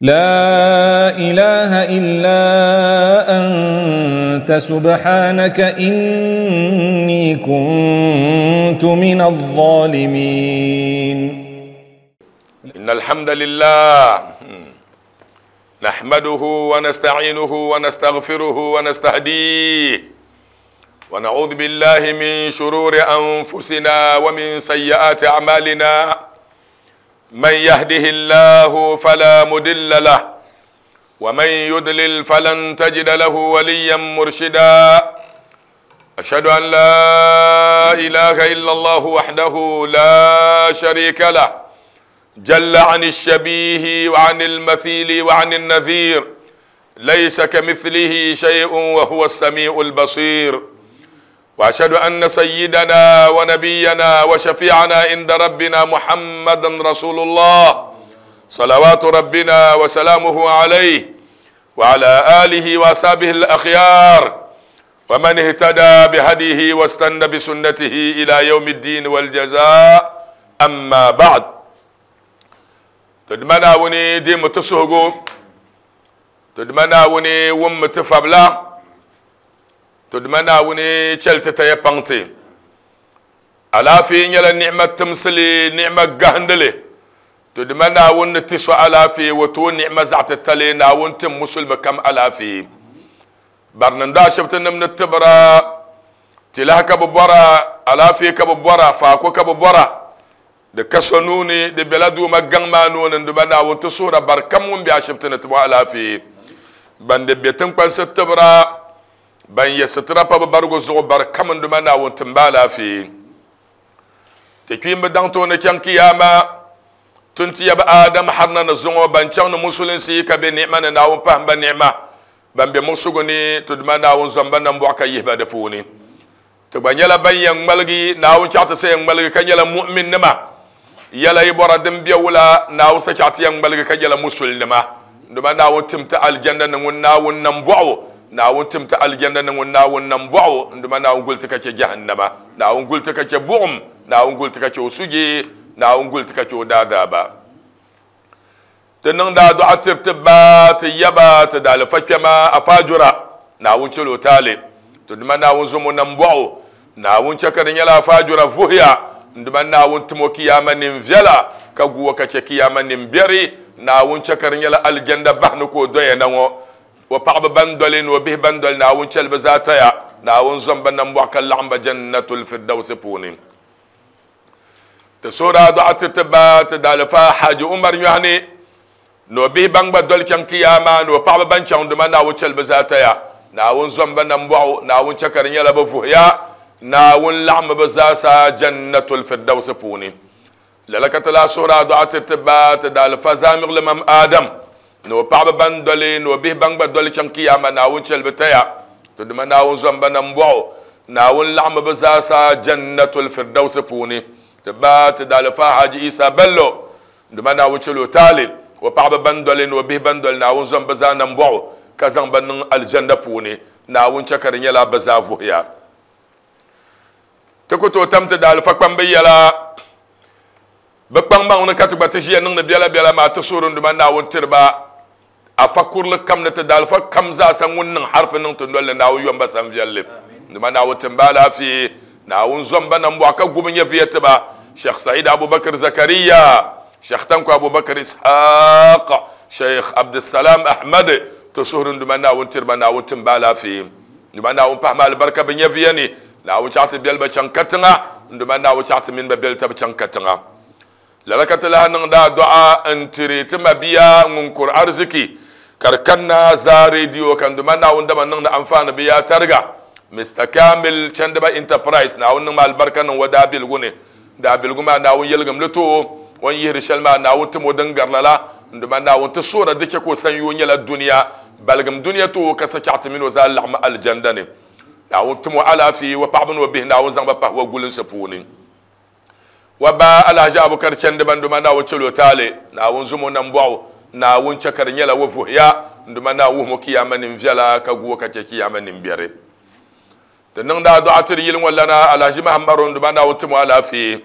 لا إله إلا أنت سبحانك إني كنت من الظالمين. إن الحمد لله نحمده ونستعينه ونستغفره ونستهديه ونعوذ بالله من شرور أنفسنا ومن سيئات أعمالنا. من يهده الله فلا مضل له ومن يضلل فلن تجد له وليا مرشدا. أشهد أن لا إله إلا الله وحده لا شريك له، جل عن الشبيه وعن المثيل وعن النذير، ليس كمثله شيء وهو السميع البصير. وأشهد أن سيدنا ونبينا وشفيعنا عند ربنا محمدا رسول الله، صلوات ربنا وسلامه عليه وعلى آله وأصحابه الأخيار ومن اهتدى بهديه واستنى بسنته إلى يوم الدين والجزاء. أما بعد، تدمنا وني دي متسوغو، تدمنا وني وم تفبلا، تدمنا وني چلت تيبانتي على في نيلا نعمة تمسلي نعمة قهندلي. تدمنا وني تسو على في وتو نعمة زعت التلي ناون تم مسلم كم على في برنندا شبتن من التبرا تلها كببورا على في كببورا فاكو كببورا de kasonuni de beladu magang manun ndubana won tusura barkam won bi ashibtana tubu ala fi bande betin kwansa tabra ban yasitra pa bargo zo barkam ndubana won tumbala fi te kimba danto na kyan kiyama tunti ya adam harna na zongo ban chan musulun si ka be ni'ma na won pa ba ni'ma ban be musuguni tudmana won zamba nan bu aka yihba da puni to banyala ban yang malgi na won chata se yang malgi kanyala mu'min nama yala ibora dem biya na won chata yang malgi kanyala musul nama nduma na won timta aljanna nan na won nan bu'u na won timta aljanna nan na won nan bu'u nduma na won gulta kace jahannama na won gulta kace bu'um na won gulta kace usuji na won gulta kace dadaba tunan da du'a tibba tiyaba ta fakama afajura na won cilo tale tuduma na won zumu nan bu'u na won cakarin yala fajura fuhiya nduma na won tumo kiyama nin vyala ka guwa kace kiyama nin biyari na won cakarin yala aljanna bahnu ko doye nango wa paqba bandolin wa bih bandol na won chalba zataya na won zamba nan bu kan lamba jannatul firdaus puni ta sura du'a tibba ta dalfa haji umar yuhani no bih bangba dol kan kiyama no paqba ban chan nduma na won chalba zataya na won zamba nan bu na won cakarin yala ba fuhiya na won lamba bazasa jannatul firdaus puni lalaka la sura du'a tibba ta dalfa zamir limam adam no paqba bandoli no bih bangba dol chan kiyama na won chalba taya to duma na won zamba nan bu na won lamba bazasa jannatul firdaus puni tibba ta dalfa haji isa bello duma na won chalo talib wa paqba bandoli no bih bandol na won zamba za nan bu ka zamba nan aljanna puni na won chakarin yala bazavu ya tukuto tamta dalfa kpambe yala bakpang bang na katuba tishiya nang na biala biala ma tusurun duma na won tirba afakur kam na ta dalfa kam za san wannan harfin nan tun dole na won yamba san viyalle duma na won timbala fi na won zomba nan bu aka gubin ya fiyata ba Sheikh Said Abubakar Zakariya Sheikh Tanko Abubakar Ishaq Sheikh Abdussalam Ahmad tusurun duma na won tirba na won timbala fi duma na won fahma albarka bin ya fiyani na won chata biyal ba can katinga duma na won chata min ba biyal ta can katinga lalaka la nan da du'a an tire tuma biya ngunkur arziki karkanna za radio kan duma na wanda man nan da amfana biya targa Mr Kamil Chandaba Enterprise na wannan mal barkan wada bilgune da bilguma na won yelgam luto won yiri shalma na won tumo dan garlala duma na won sura dake ko san yonyala duniya balgam duniya to ka saki min wa zal aljanna ne na won tumo ala fi wa pa'bun wa bih na won zamba pa wa gulun sapuni wa ba alhaji abubakar Chandaba nduma na won celo tale na won zumo nan bu'u na won cakar nyala wa fuhiya nduma na wo mo kiyama nin vyala ka guwa ka ce kiyama nin biyare to nan da du'a tir yilin walla na alhaji muhammadu nduma na won tumo ala fi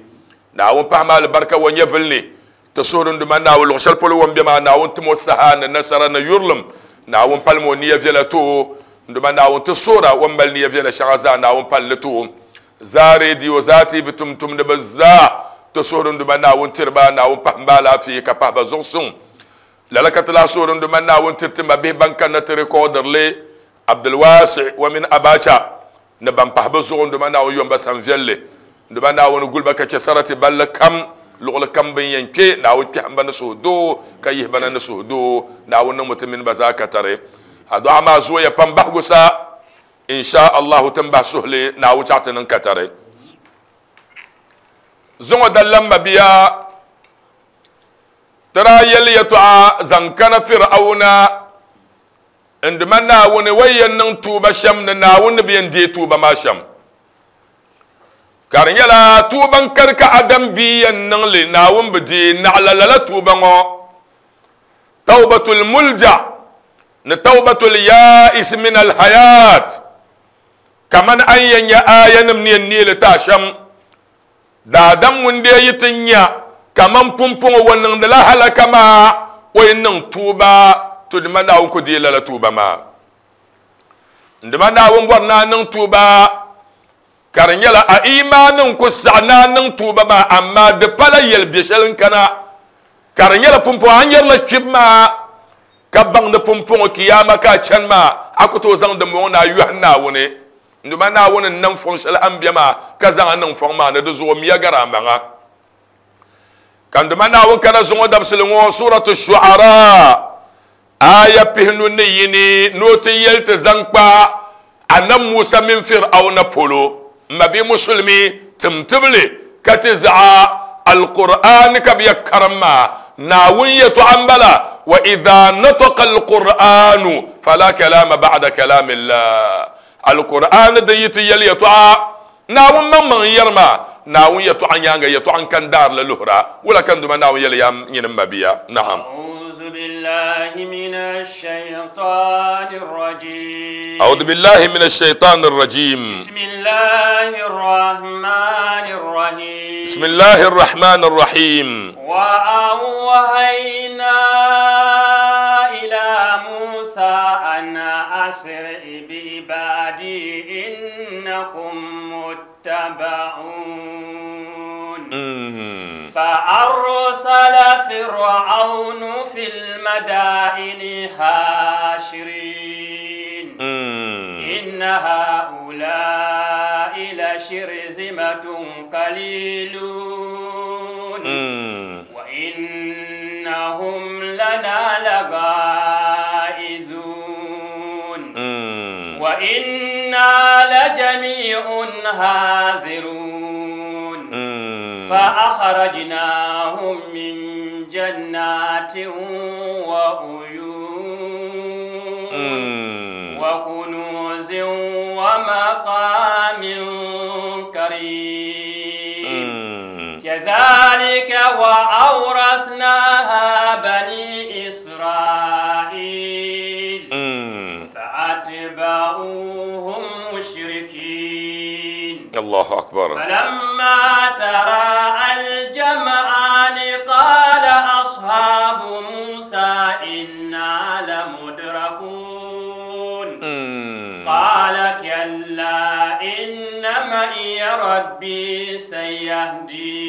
na won fahma albarka won yefilni Ti suhuri n Duuma Naawuni luɣ shɛli polo o ni be maa, Naawuni tim o saha ni nasara ni yurilim. Naawuni palim o nia viɛla ti o. N Duuma Naawuni, ti suhir a, o ni mali nia viɛla shɛŋa zaa, Naawuni pali li ti o. Zaa redio, zaa TV tumtumdiba zaa, ti suhuri n Duuma Naawuni tiri ba, Naawuni pahim ba alaafee ka pahi ba zuɣusuŋ. Lala ka ti lahi suhuri n Duuma Naawuni tiri ti mabihi ban kanna ti rikɔɔdiri li, Abdulwasi wa mini Abacha ni ban pahi bɛ zuɣu n Duuma Naawuni yom ba san viɛlli. N Duuma Naawuni guli ba ka chɛ sarati balli kam, luɣili kam bɛ ni yɛn kpe, Naawuni kpɛhim ba ni suhudoo ka yihi ba na ni suhudoo. Naawuni niŋmi ti mini ba zaa katari. Adu'a maa zooya pam bahigu sa, In sha Allahu ti ni bahi suhili Naawuni chaɣ ti niŋ katari. Zuŋɔ dali mabia ti daa yɛli yɛtɔɣa zaŋ kana Fir'auna n dima Naawuni o yɛn niŋ tuuba shɛm ni Naawuni ni bi yɛn deei tuuba maa shɛm. Ka di nyɛla tuuba n-kani ka Adam bia yɛn niŋ li, Naawuni bi deei naɣila lala tuuba ŋɔ. Tawbatul mulja ni tawbatul ya'is min al-hayat, kamani a ni yɛn nya aayanim ni yɛn neei li ti a shɛm. Daadam ŋun dee yi ti nya kaman pumpɔŋɔ o niŋdila halaka maa, o yi niŋ tuuba, to dima Naawuni ku deei lala tuuba maa. Dima Naawuni bɔri ni a niŋ tuuba, ka di nyɛla a iimaani n-ku saɣi ni a niŋ tuuba maa, amaa di pala yɛl biɛ shɛli n-kana, ka di nyɛla pumpɔŋɔ a nyarila kpibu maa, ka baŋ ni pumpɔŋɔ kiyaama ka a chani maa, a ku tooi zaŋ dimbɔŋɔ ni a yɔhi Naawuni. N Duuma Naawuni n-nam fɔŋ shɛli a ni be maa, ka zaŋ a niŋ fɔŋ maa ni, di zuɣu miya gari a maŋa. Ka n Duuma Naawuni kana zuŋɔ dabisili ŋɔ, Suuratu Shu'ara, aaya pihinu ni yini, ni o ti yɛli ti zaŋ kpa Annabi Musa mini Fir'auna polo, M mabia Musulimi, tim tibili ka ti zaɣa Alkur'aani ka bɛ ya karim maa, Naawuni yɛtɔɣa m-bala, Wa idha nataqa al-Qur'anu fala kalama ba'da kalamillah. Alkur'aani din yi ti yɛli yɛtɔɣa, Naawuni maŋmaŋ n-yɛri maa, Naawuni yɛtɔɣa nyaaŋa yɛtɔɣa n-kani daari la luhira. Wula ka n Duuma Naawuni yɛli yaa nyini m mabia? Naam. A'uuzu billahi mina shaytaani rajiim. A'uudu billahi mina shaytaani rajiim. Bismillahi rahmaani rahiim. Bismillahi rahmaani rahiim. Wa awhaynaa ilaa Muusaa an asri bi-ibaadii innakum muttaba'uun. Fa-arsala Fir'awnu fil-madaa'ini haashiriin. Inna haa'ulaa'i la-shirzimatun qaliiluun. Wa innahum lanaa laghaa'izuun. Wa innaa lajamii'un haadhiruun. Fa akhrajnaahum min jannaatin wa uyuun. Wa kunuuzin wa maqaamin kariim. Kadhalika wa awrasnaahaa banii Israa'iil. Fa'atba'uuhum mushrikiin. Allahu akbar. Falamma taraa'a al-jam'aani qaala ashaabu Muusaa innaa lamudrakuun. Qaala kallaa inna ma'iya rabbii sayahdiin.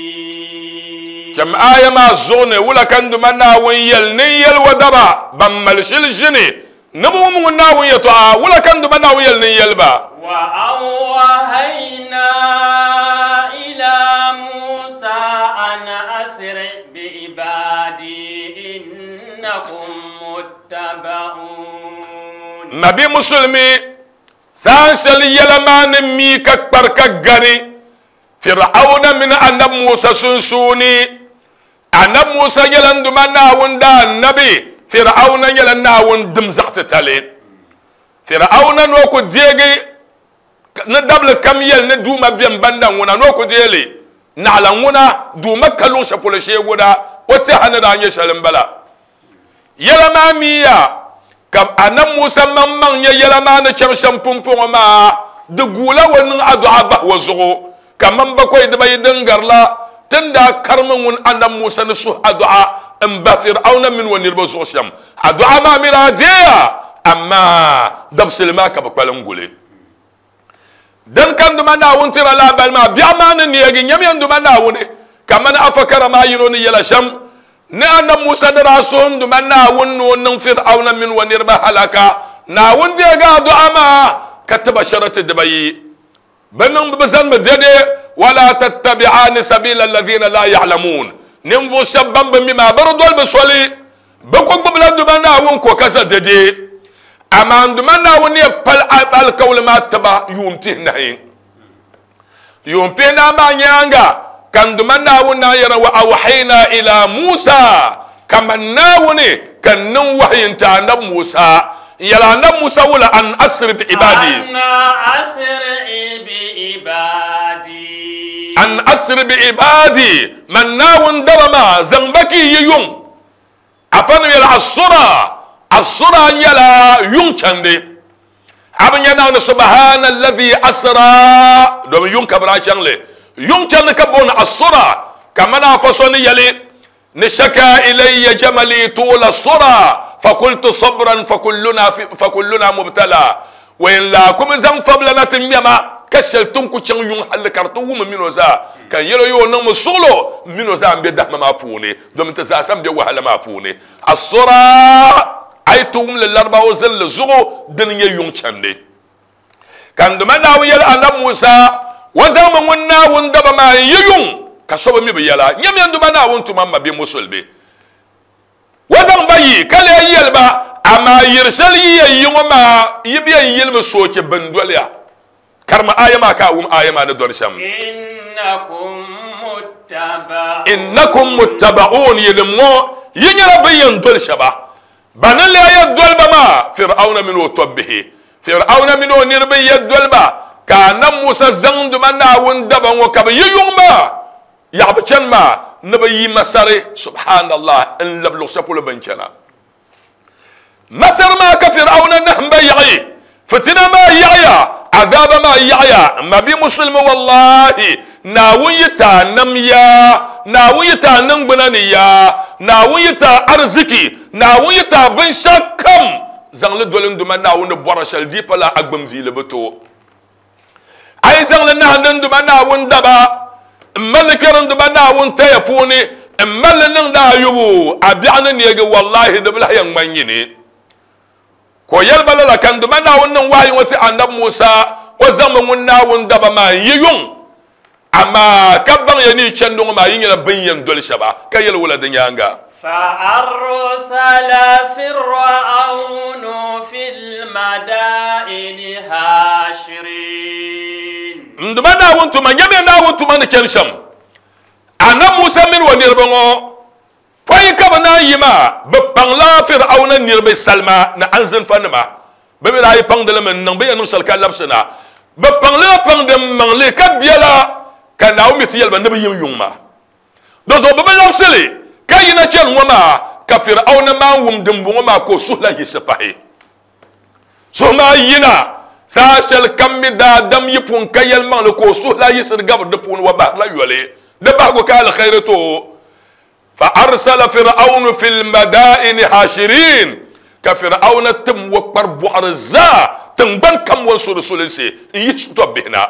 Cham aaya maa zuɣu ni, wula ka n Duuma Naawuni yɛli ni n yɛli o daba ban mali shili ʒini ni bɛ wum ŋun Naawuni yɛtɔɣa? Wula ka n Duuma Naawuni yɛli ni n yɛli ba? Wa awhaynaa ilaa Muusaa an asri bi-ibaadii innakum muttaba'uun. Nabi Musulimi, saha shɛli yɛla maa ni mi ka kpari ka gani Fir'auna mini Annabi Musa sunsuuni. Annabi Musa nyɛla n Duuma Naawuni daannabi, Fir'auna nyɛla Naawuni dim zaɣ titali. Fir'auna ni o ku deegi ni dabili kam yɛli ni Duuma beni banda ŋuna ni o ku deei li, naɣila ŋuna Duuma ka luɣ shɛli polo shee ŋuna o tɛha ni daa nyɛ shɛli m-bala. Yɛla maa miya ka Annabi Musa maŋmaŋ nya yɛla maa ni chaŋ shɛm pumpɔŋɔ maa, di guula o niŋ adu'a bahi o zuɣu kaman bakɔi dibayi din gari la. Ti ni daa karimi ŋun Annabi Musa ni suhi adu'a m-bahi Fir'auna mini o niriba zuɣu shɛm, adu'a maa mi daa deeya, amaa dabisili maa ka bɛ kpalim guli. Din ka n Duuma Naawuni tira lahabali maa, biɛɣu maa ni neegi, nyamiya n Duuma Naawuni, kamani afa kara maa yino ni yɛla shɛm, ni Annabi Musa ni daa suhi n Duuma Naawuni ni o niŋ Fir'auna mini o niriba halaka, Naawuni deegi adu'a maa ka ti ba sharati dibayi. Bɛ niŋ bɛ zanimi dɛde, Wala tattabi'ani sabila alladhina la ya'lamun, ninvuɣ shɛba ban bi mi maa bɛ di doli bɛ soli, bɛ ku gbibila Duuma Naawuni ko ka za dɛde. Amaa n Duuma Naawuni ni yɛn pali alikauli maa ti ba yuun pihinahi. Yuun pihinahi maa nyaaŋa ka n Duuma Naawuni naan yɛra, Wa awhayna ila Musa, kaman Naawuni ka n niŋ wahayi n-ti Anabi Musa, N yɛli Anabi Musa wula, An asiri bi ibadi. An asiri bi ibadi. An asiri bi ibadi, man Naawuni daba maa, zaŋ ba ka yi yi yuŋ. Afanim yɛli, Asura, asura nyɛla yuŋ chandi. A bi nya Naawuni subahana allazi asra, domin yuŋ ka bɛ daa chaŋ li. Yuŋ chandi ka booni asura, kamani afa so ni yɛli, Ni shaka ilayya jamali tuula sura fakultu sabran fakulluna mubtala wa in laakumi zaŋ fabila na ti ŋmɛma ka shɛli ti ni ku chaŋ yuŋ halli ka di ti wum m mini o zaa ka n yɛl o yi o niŋmi suɣilo m mini o zaa m-be dahima maa puuni domin ti zaa sa m-be wahala maa puuni. Asura a yi ti wum li Laribawa zinli zuɣu dini n-nyɛ yuŋ chandi. Ka n Duuma Naawuni yɛli Anabi Musa, O zaŋmi ŋun Naawuni daba maa n-yi yuŋ, ka so bi mi bɛ yɛla. Nyamiya n Duuma Naawuni tuma m mabia Musulimi. O zaŋ ba yi, ka lee yɛli ba, Amaa yiri shɛli yi yɛn yi ŋɔ maa, yi bi yɛn yilimi soochi bindoliya. Karimi aaya maa ka a wum aaya maa ni dɔni shɛm. Innakum muttaba'un, yinim ŋɔ, yi nyɛla bɛn yɛn doli shɛba. Ba ni leei ya doliba maa, Fir'auna mini o tɔbbihi. Fir'auna mini o niriba n-yɛ doliba, ka Annabi Musa zaŋ Duuma Naawuni daba ŋɔ ka bɛ yi yuŋ maa, yaɣi bɛ chani maa, ni bɛ yi Masari, Subhaanallah, n-labi luɣ shɛli polo bɛ ni chana. Masari maa ka Fir'auna nahimba yaɣi, fitina maa yaɣiya, azaaba maa yaɣiya, m mabia Musulimi, wallahi, Naawuni yi ti a nam yaa, Naawuni yi ti a niŋgbuna ni yaa, Naawuni yi ti a ariziki, Naawuni yi ti a binshɛɣu kam, zaŋ li doli n Duuma Naawuni ni bɔri shɛli di pala a gbum viili bi to. A yi zaŋ li nahindi n Duuma Naawuni daba, m-mali li kpɛri n Duuma Naawuni taya puuni, m-mali li niŋdi a yubu, a biɛɣu ni neegi, wallahi di bi lahi yɛn ŋmani nyini. Ka o yɛli ba lala, ka n Duuma Naawuni niŋ wahayi ŋɔ ti Anabi Musa, o zaŋmi ŋun Naawuni daba maa n-yi yuŋ, amaa ka baŋya ni yi chandi ŋɔ maa yi nyɛla bɛn yɛn doli shɛba, ka yɛli wula di nyaaŋa? فأرسل فرعون في المدائن حاشرين. N Duuma Naawuni tuma, nyamiya Naawuni tuma ni chani shɛm. Anabi Musa mini o niriba ŋɔ Pɔi ka bɛ naan yi maa, bɛ paŋla Fir'auna niriba salima ni anzinfanima. Bɛ mi daa yi paŋdi li mi n-niŋ bɛ yɛn niŋ shɛli ka labisi na. Bɛ paŋ li la paŋdi maŋli ka biɛla, ka Naawuni mi ti yɛli ba ni bɛ yim yuŋ maa. Dinzuɣu bɛ bi labisi li ka yina chani ŋɔ maa, ka Fir'auna maan wum dimbɔŋɔ maa ka o suhu lahi yiɣisi pahi. Suhu maa yina saha shɛli kam mi daadam yi pun ka yɛlimaŋli ka o suhu lahi yiɣisiri gabiri di puuni wa bahirila yoli. Di bahigu ka alkhairi ti o. Fa arsala Fir'aunu fil madaini hashirin, ka Fir'auna tim o kpari bɔɣiri zaa tiŋgbani kam o ni su di sulinsi n-yihi tɔbbihi na,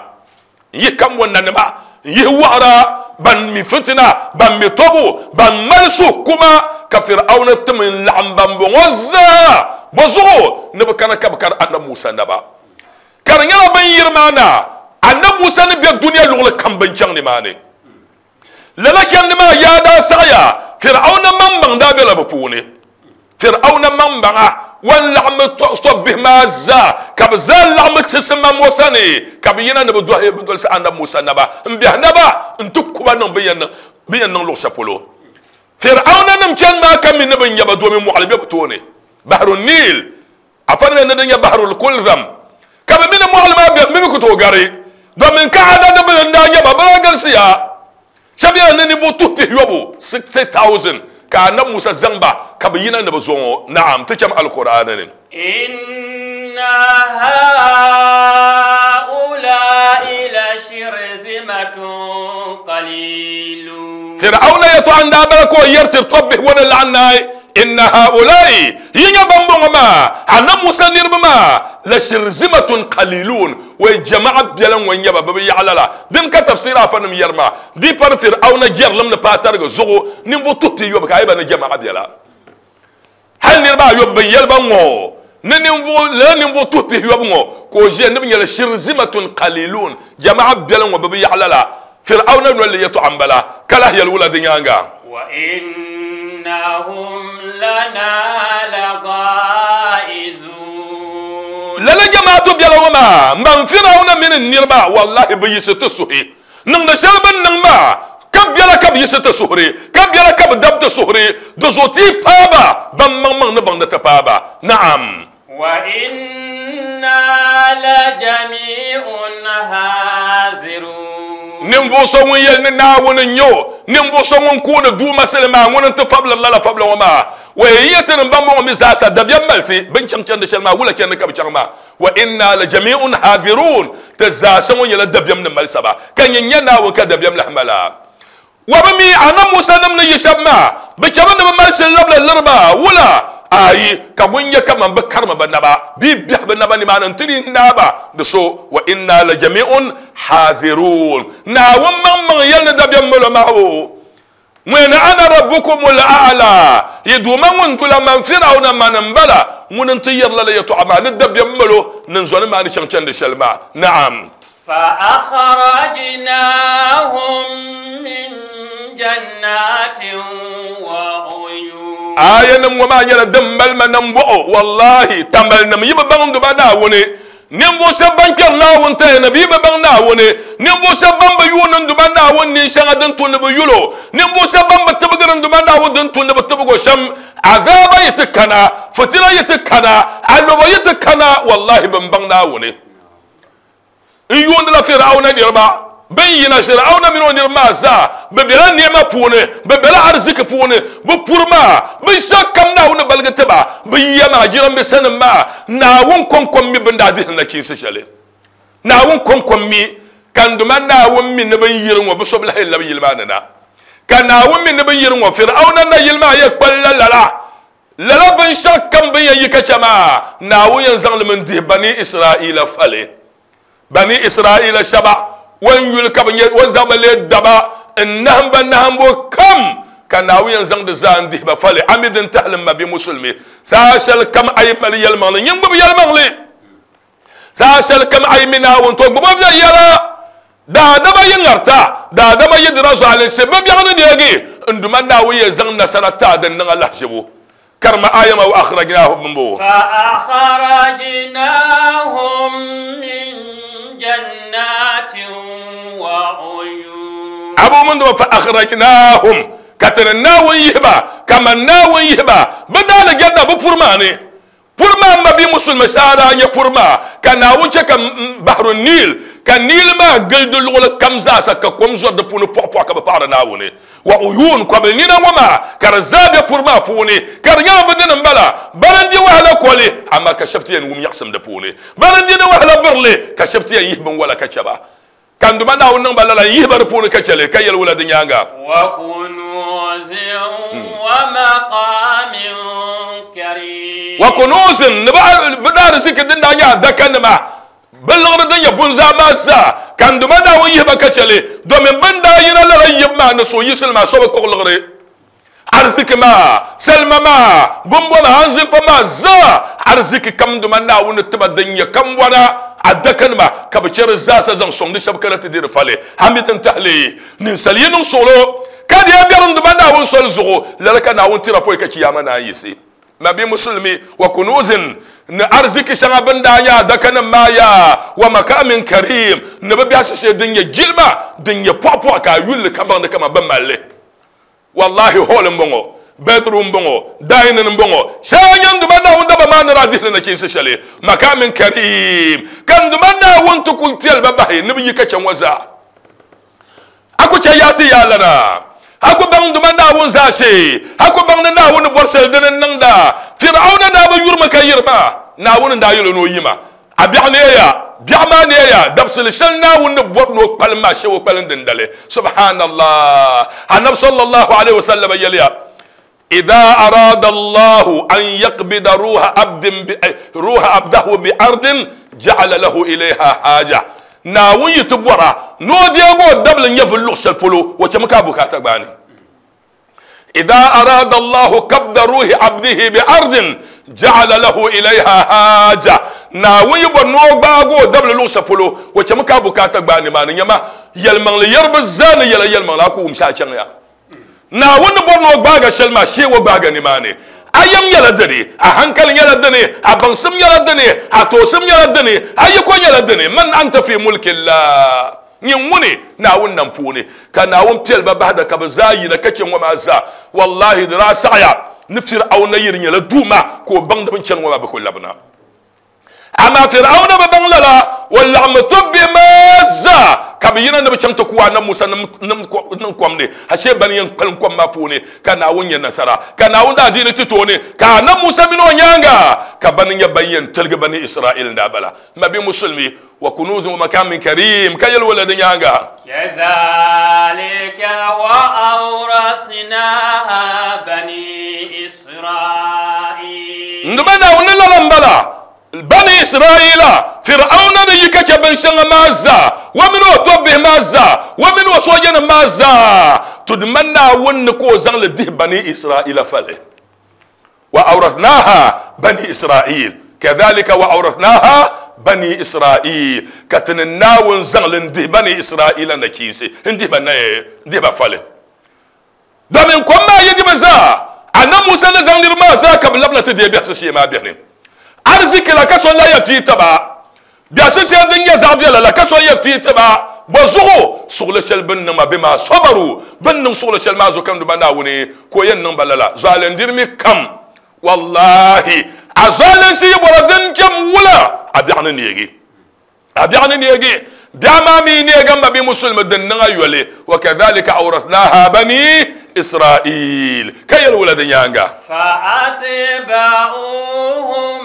n-yihi kam o nanima, n-yihi wɔɣira ban mi fitina, ban mi tɔbu, ban mali suhukuma, ka Fir'auna tim n-laɣim bambɔŋɔ zaa bɔzuɣu ni bɛ kana ka bɛ kari Annabi Musa naba. Ka di nyɛla bɛ ni yiri maa na, Annabi Musa ni be dunia luɣili kam bɛ ni chaŋ nimaani. Lala chandi maa yaa daa saɣiya, Fir'auna maŋmaŋ daa bela bɛ puuni. Fir'auna maŋmaŋa wan laɣimmi tɔbbihi maa zaa, ka bɛ zaa laɣimmi chisimam o sani, ka bɛ yina ni bɛ dɔhi bɛ dolisi Anabi Musa naba m-biɛhi naba nti ku ba niŋ bɛ yɛn niŋ luɣ shɛli polo. Fir'auna nim chani maa ka mi ni bɛ nya ba domi mɔɣili be bɛ tooni, Bahru Nil. Afa ni ni di nyɛ Bahrul Kulzam, ka bɛ mi ni mɔɣili maa bɛ mi bi ku tooi gari, domin ka adadi bili n-daa nyɛ ba, bɛ daa galisiya. Shɛba yɛla ni ninvuɣ tuhi pihiyɔbu, 60,000, ka Anabi Musa zaŋ ba ka bɛ yina ni bɛ zo ŋɔ. Naam, ti cham Alkur'aani ni. Inna ha'ula'i lashirzimatun qalilun. Fir'auna yɛltɔɣa n daa bala ka o yɛri tiri tɔbbihi ŋɔ ni laɣim naai, Inna ha'ulai, yi nya bambɔŋɔ maa, Annabi Musa niriba maa, la shirzimatun qalilun, wai jama'a biɛla ŋɔ n-nyɛ ba, bɛ bi yaɣi lala. Dini ka tafsir afanim yɛri maa, di pari Fir'auna jɛrilim ni paai tarigi zuɣu ninvuɣ tuhi pia yobu ka a yi ba ni jama'a biɛla. Hali niriba ayɔbu bɛn yɛli ba ŋ-ŋɔ ni ninvuɣ lala ninvuɣ tuhi pihiyɔbu ŋɔ ka o ʒiya ni bɛ nyɛla shirzimatun qalilun, jama'a biɛla ŋɔ bɛ bi yaɣi lala. Fir'auna noli li yɛtɔɣa m-bala, ka lahi yɛli wula di nyaaŋa? Wa innahum lana laghaizun. Lala jamaatu biɛla ŋɔ maa m-baŋ Fir'auna mini n niriba, wallahi bɛ yiɣisi ti suhi niŋdi shɛli bɛ ni niŋ maa, ka biɛla ka bɛ yiɣisi ti suhuri, ka biɛla ka bɛ dabi ti suhuri, di zuɣu ti yi paai ba, ban maŋmaŋ ni baŋ ni ti paai ba. Naam. Wa inna lajami'un hazirun. Ninvuɣ so ŋun yɛli ni Naawuni n-nyɛ o, ninvuɣ so ŋun kuuni Duuma sili maa, ŋuni n-ti fabiliri lala fabila ŋɔ maa. Wa yi yɛti ni bambɔŋɔ mi zaasa dabiɛm mali ti, bɛ ni chaŋ chandi shɛli maa, wula chandi ka bɛ chaŋ maa? Wa inna la jami'un hadirun, ti zaasa ŋɔ nyɛla dabiɛm ni mali saba, ka nyin nya Naawuni ka dabiɛm lahi mali a. Wa bi mi Annabi Musa nim ni yi shɛba maa, bɛ chɛmi ni bɛ mali shili labila liri ba, wula? Aai, ka ŋun nyɛ kaman bɛ karimi bɛ naba bee biɛhi bɛ naba nimaani n-ti di n-naai ba di so, wa inna la jami'un hadirun. Naawuni maŋmaŋ yɛli ni dabiɛm mali o maa o. Ŋun ana rabbukumul a'la, yi Duuma ŋun dula man Fir'auna mani m-bala, ŋuni n-ti yɛri lala yɛtɔɣa maa ni dabiɛm mali o ni n zɔni maa ni chaŋ chandi shɛli maa. Naam. Fa-akhrajnahum min jannatin wa uyun. Aayanim ŋɔ maa nyɛla din mali ma nambɔɣu, wallahi, tambalinim yi bi baŋ Duuma Naawuni Ninvuɣ shɛb ban kpɛri Naawuni taya ni bɛ yi bi baŋ Naawuni, ninvuɣ shɛb ban bi yuuni n-Duuma Naawuni nin shɛŋa din tu ni bɛ yul o, ninvuɣ shɛb ban bi tibigiri n-Duuma Naawuni din tu ni bɛ tibig o shɛm, azaaba yi ti kana, fitina yi ti kana, alɔbo yi ti kana, wallahi bɛ ni baŋ Naawuni. N yuundila Fir'auna niriba. Bɛ ni yina Fir'auna mini o niriba maa zaa, bɛ bela ni'ima puuni, bɛ bela ariziki puuni, bɛ puri maa, binshɛɣu kam Naawuni ni baligi ti ba, bɛ yiya maa, jirambiisanim maa, Naawuni kɔŋko m-mi bɛ ni daa dihili nachiinsi shɛli. Naawuni kɔŋko m-mi, ka n Duuma Naawuni mi ni bɛ ni yiri ŋɔ, bɛ so bi lahi yɛn labi yili maa ni na. Ka Naawuni mi ni bɛ ni yiri ŋɔ, Fir'auna nayili maa yɛn kpalila lala. Lala binshɛɣu kam bɛ ni yɛn yi ka chɛ maa, Naawuni yɛn zaŋ li mi n-dihi Bani Israaila fali. Bani Israaila shɛba o ni yuli ka bɛ nyɛ o ni zaŋ ba leei daba n-nahim ba nahimbu kam, ka Naawuni yɛn zaŋ di zaa n-dihi ba fali. A mi din tahili m ma bia Musulimi, saha shɛli kam a yi mali yɛlimaŋli, nyin gbubi yɛlimaŋli. Saha shɛli kam a yi mi Naawuni, to gbubi o viɛnyɛla. Daadama yi ŋarita, daadama yi dira zualinsi, bɛ biɛɣu ni neegi, n Duuma Naawuni yɛn zaŋ nasara ti a din niŋ a lahiʒibu. Karima aaya maa, wa akhrajnahum m-bɔŋɔ. Fa akhrajnahum min jannatin wa uyun. Abu mun dama fa akhrajnahum, ka ti ni Naawuni yihi ba, kaman Naawuni yihi ba bɛ daalijanna bɛ puri maa ni. Puri maa m mabia musulimi saa daa nyɛ puri maa ka Naawuni chɛ ka Bahru Nil, ka Nil maa gili di luɣili kam zaasa ka kom zɔri di puuni pɔɣipɔɣi ka bɛ paɣiri Naawuni. Wa uyuun, kɔbil nina ŋɔ maa ka di zaa be puri maa puuni ka di nyɛla bɛ dini m-bala, bana n-di wahala koli, amaa ka shɛba ti yɛn wum nyaɣisim di puuni. Bana n-di di wahala birili ka shɛba ti yɛn yihi binwala ka chɛ ba. Ka n Duuma Naawuni niŋ ba lala n-yihi ba di puuni ka chɛ li, ka yɛli wula di nyaaŋa? Wa kunuuzin wa maqaamin kariim. Wa kunuuzin, ni bɛ daariziki din daa nyɛ adakanima, bɛ liɣiri din nyɛ bunzaa maa zaa, ka n Duuma Naawuni yihi ba ka chɛ li, domin bɛ ni daa yina lala yibu maa ni suhuyiɣisili maa so bi kpuɣi liɣiri. Ariziki maa, salima maa, bumbo maa, anzinfa maa zaa, ariziki kam Duuma Naawuni ni ti ba din nyɛ kambɔna, adakanima, ka bɛ chɛ di zaasa zaŋ sɔŋ di shɛba kana ti di di fali. A mi din tahi li, ninsal yi niŋ suɣilo ka di a biɛrim Duuma Naawuni soli zuɣu, lala ka Naawuni tira pɔi ka Chiyaama naan yiɣisi. Mabi Musulimi, wa kunuzin, ni ariziki shɛŋa bɛ ni daa nya adakanim maa yaa, wa makamin karim, ni bɛ biɛhisi shee din nyɛ jilima, din nyɛ pɔɣipɔɣi ka a yuli li ka baŋ ni kaman bɛ mali li. Wallahi hall m-bɔŋɔ, bedroom m-bɔŋɔ, dining m-bɔŋɔ, shɛli nyɛ n Duuma Naawuni daba maa ni daa dihili nachiinsi shɛli, makamin karim, ka n Duuma Naawuni ti ku piɛli ba bahi ni bɛ yi ka chɛ ŋɔ zaa. A ku chɛ yaa ti yaa lana, a ku baŋ n Duuma Naawuni zaashee, a ku baŋ ni Naawuni ni bɔri shɛli dini n-niŋda. Fir'auna daa bi yuri mi ka yiri ma, Naawuni n-daa yɛl o ni o yi ma. A biɛɣu neeya. Biɛɣu maa neeya, dabisili shɛli Naawuni ni bɔri ni o kpalim maa shee o kpalim dindali. Subhanallah! Anabi sallallahu alayhi wa sallam yɛliya, Idha arada Allahu an yaqbida ruha abdin bi ruha abdahu bi ardin ja'ala lahu ilayha haja. Naawuni yi ti bɔra ni o deegi o dabili nyɛvuli luɣ shɛli polo, o chɛmi ka a bukaata gbaai ni. Idha arada Allahu kabda ruhi abdihi bi ardin ja'ala lahu ilayha haja. Naawuni yi bɔri ni o gbaagi o dabili luɣ shɛli polo, o chɛmi ka a bukaata gbaai nimaani. Nyama, yɛlimaŋli yɛriba zaa ni yɛla yɛlimaŋli, a ku wum shɛli a chaŋ ya. Naawuni ni bɔri ni o gbaag a shɛli maa, shee o gbaag a nimaani. A yɛm nyɛla dini, a hankali nyɛla dini, a baŋsim nyɛla dini, a toosim nyɛla dini, a yiko nyɛla dini. Man anta fi mulkillah. Nyin ŋuni Naawuni nam puuni, ka Naawuni piɛli ba bahi da ka bɛ zaa yina ka chɛ ŋɔ maa zaa. Wallahi di daa saɣiya ni Fir'auna yi di nyɛla Duuma ka o baŋ di bɛ ni chani ŋɔ maa bɛ ku labina. Amaa Fir'auna bi baŋ lala, o laɣimmi tɔbbihi maa zaa ka bɛ yina ni bɛ chaŋ ti ku Annabi Musa niŋ kom ni, ashee bani yɛn kpalim kom maa puuni ka Naawuni nya nasara, ka Naawuni daa diini ti tooni, ka Annabi Musa mini o nyaaŋa ka bani nyɛ ban yɛn tiligi Bani Isra'il n-daa bala. M mabia Musulimi, wa kunuzin wa makamin karim, ka yɛli wala di nyaaŋa. Kazalika wa awrasnaha bani Isra'il. N-duba Naawuni ni lala m-bala, Bani Isra'ila, Fir'auna ni yi ka chɛ binshɛŋa maa zaa, o mini o tɔbbihi maa zaa, o mini o soojanim maa zaa, to di ma Naawuni ni ka o zaŋ li dihi Bani Isra'ila fali. Wa awratnaha bani Isra'il, kadhalika wa awratnaha bani Isra'il, ka ti ni Naawuni zaŋ li n-dihi Bani Isra'ila nachiinsi, n-dihi ba naya, n-dihi ba fali. Domin kom maa yi di bi zaa, Annabi Musa ni zaŋ niriba maa zaa ka bɛ labina ti deei biɛhisi shee maa beni. Ariziki la ka so lahi yɛn pii ti ba. Biɛhisi shee din nyɛ zaɣ viɛla la ka so yɛn pii ti ba. Bɔzuɣu? Suɣili shɛli bɛ ni niŋ ma bɛ maa sabaru, bɛ ni niŋ suɣili shɛli maa zuɣu ka n Duuma Naawuni ka o yɛn niŋ ba lala. Zualindirimi kam, wallahi, a zualinsi yi bɔra din jɛm wula, a biɛɣu ni neegi. A biɛɣu ni neegi, biɛɣu maa mi neegi m ma bia musulimi din niŋ a yoli, wa kadhalika awrathnaha bani Israil, ka yɛli wula di nyaaŋa. Fa'atba'uhum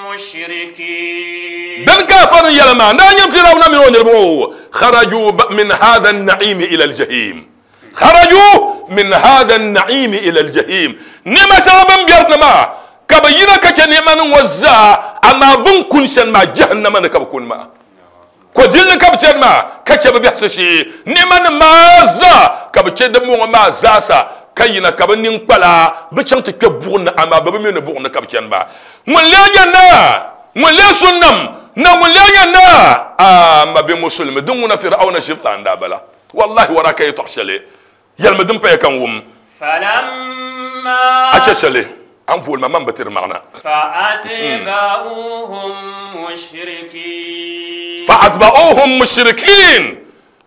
mushrikin. Din ka a fari yɛli maa, naa nyini Firawuna mini o niriba ŋɔ kharaju min hadha an-na'imi ila al-jahim, kharaju min hadha an-na'imi ila al-jahim, ni'ima shɛŋa bɛ ni bɛri ni maa ka bɛ yina ka chɛ ni'ima nim ŋɔ zaa, amaa bɛ ni kuni shɛli maa jahannama ni ka bɛ kuni maa. Kɔdilli ka bɛ chani maa ka chɛ bɛ biɛhisi shee. Ni'ima nim maa zaa ka bɛ chɛ dimbɔŋɔ maa zaasa ka yina ka bɛ niŋkpala bi chaŋ ti kpe buɣim ni, amaa bɛ bi mi ni buɣim ni ka bɛ chani maa. Ŋun lee nyɛ naa? Ŋun lee su nam? Na ŋun lee nyɛ naa? Aa, m mabia Musulimi, din ŋuna Fir'auna ʒiri n-daa bala. Wallahi wara ka yɛtɔɣ shɛli yɛlimi din paya ka n wum. Falamma. A chɛ shɛli a ni vooli ma, man bi ti di maɣina. Fa'atba'uhum mushrikin. Fa'atba'uhum mushrikin.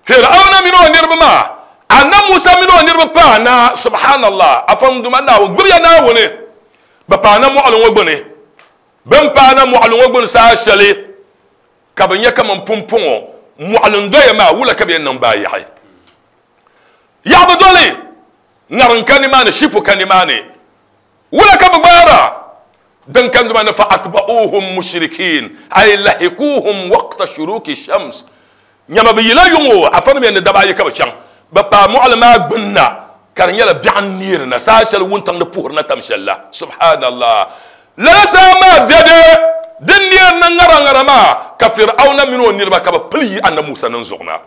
Fir'auna mini o niriba maa, Annabi Musa mini o niriba paana, subhanallah, a fam Duuma Naawuni, gbibiya Naawuni, bɛ paana mɔɣili ŋɔ gbuni. Bɛ ni paana mɔɣili ŋɔ gbuni saha shɛli ka bɛ nya kaman pumpɔŋɔ mɔɣili n-doya maa, wula ka bɛ yɛn niŋ baai yaɣi? Yaɣi bi doli, ŋariŋ ka nimaani, shipu ka nimaani, wula ka bɛ gbaara? Din ka duma ni fa atba'uhum mushrikin ay lahikuhum waqta shuruki shams. Nyama bɛ yila yuŋ o, afa nim yɛn ni daba ayi ka bɛ chaŋ. Bɛ paai mɔɣili maa gbunna ka di nyɛla biɛɣu n-neeri na saha shɛli wuntaŋ ni puhiri na tam shɛli la. Subhanallah! Lala saha maa dɛde din neeri na ŋara ŋara maa ka Fir'auna mini o niriba ka bɛ pili yi Annabi Musa niŋ zuɣu na.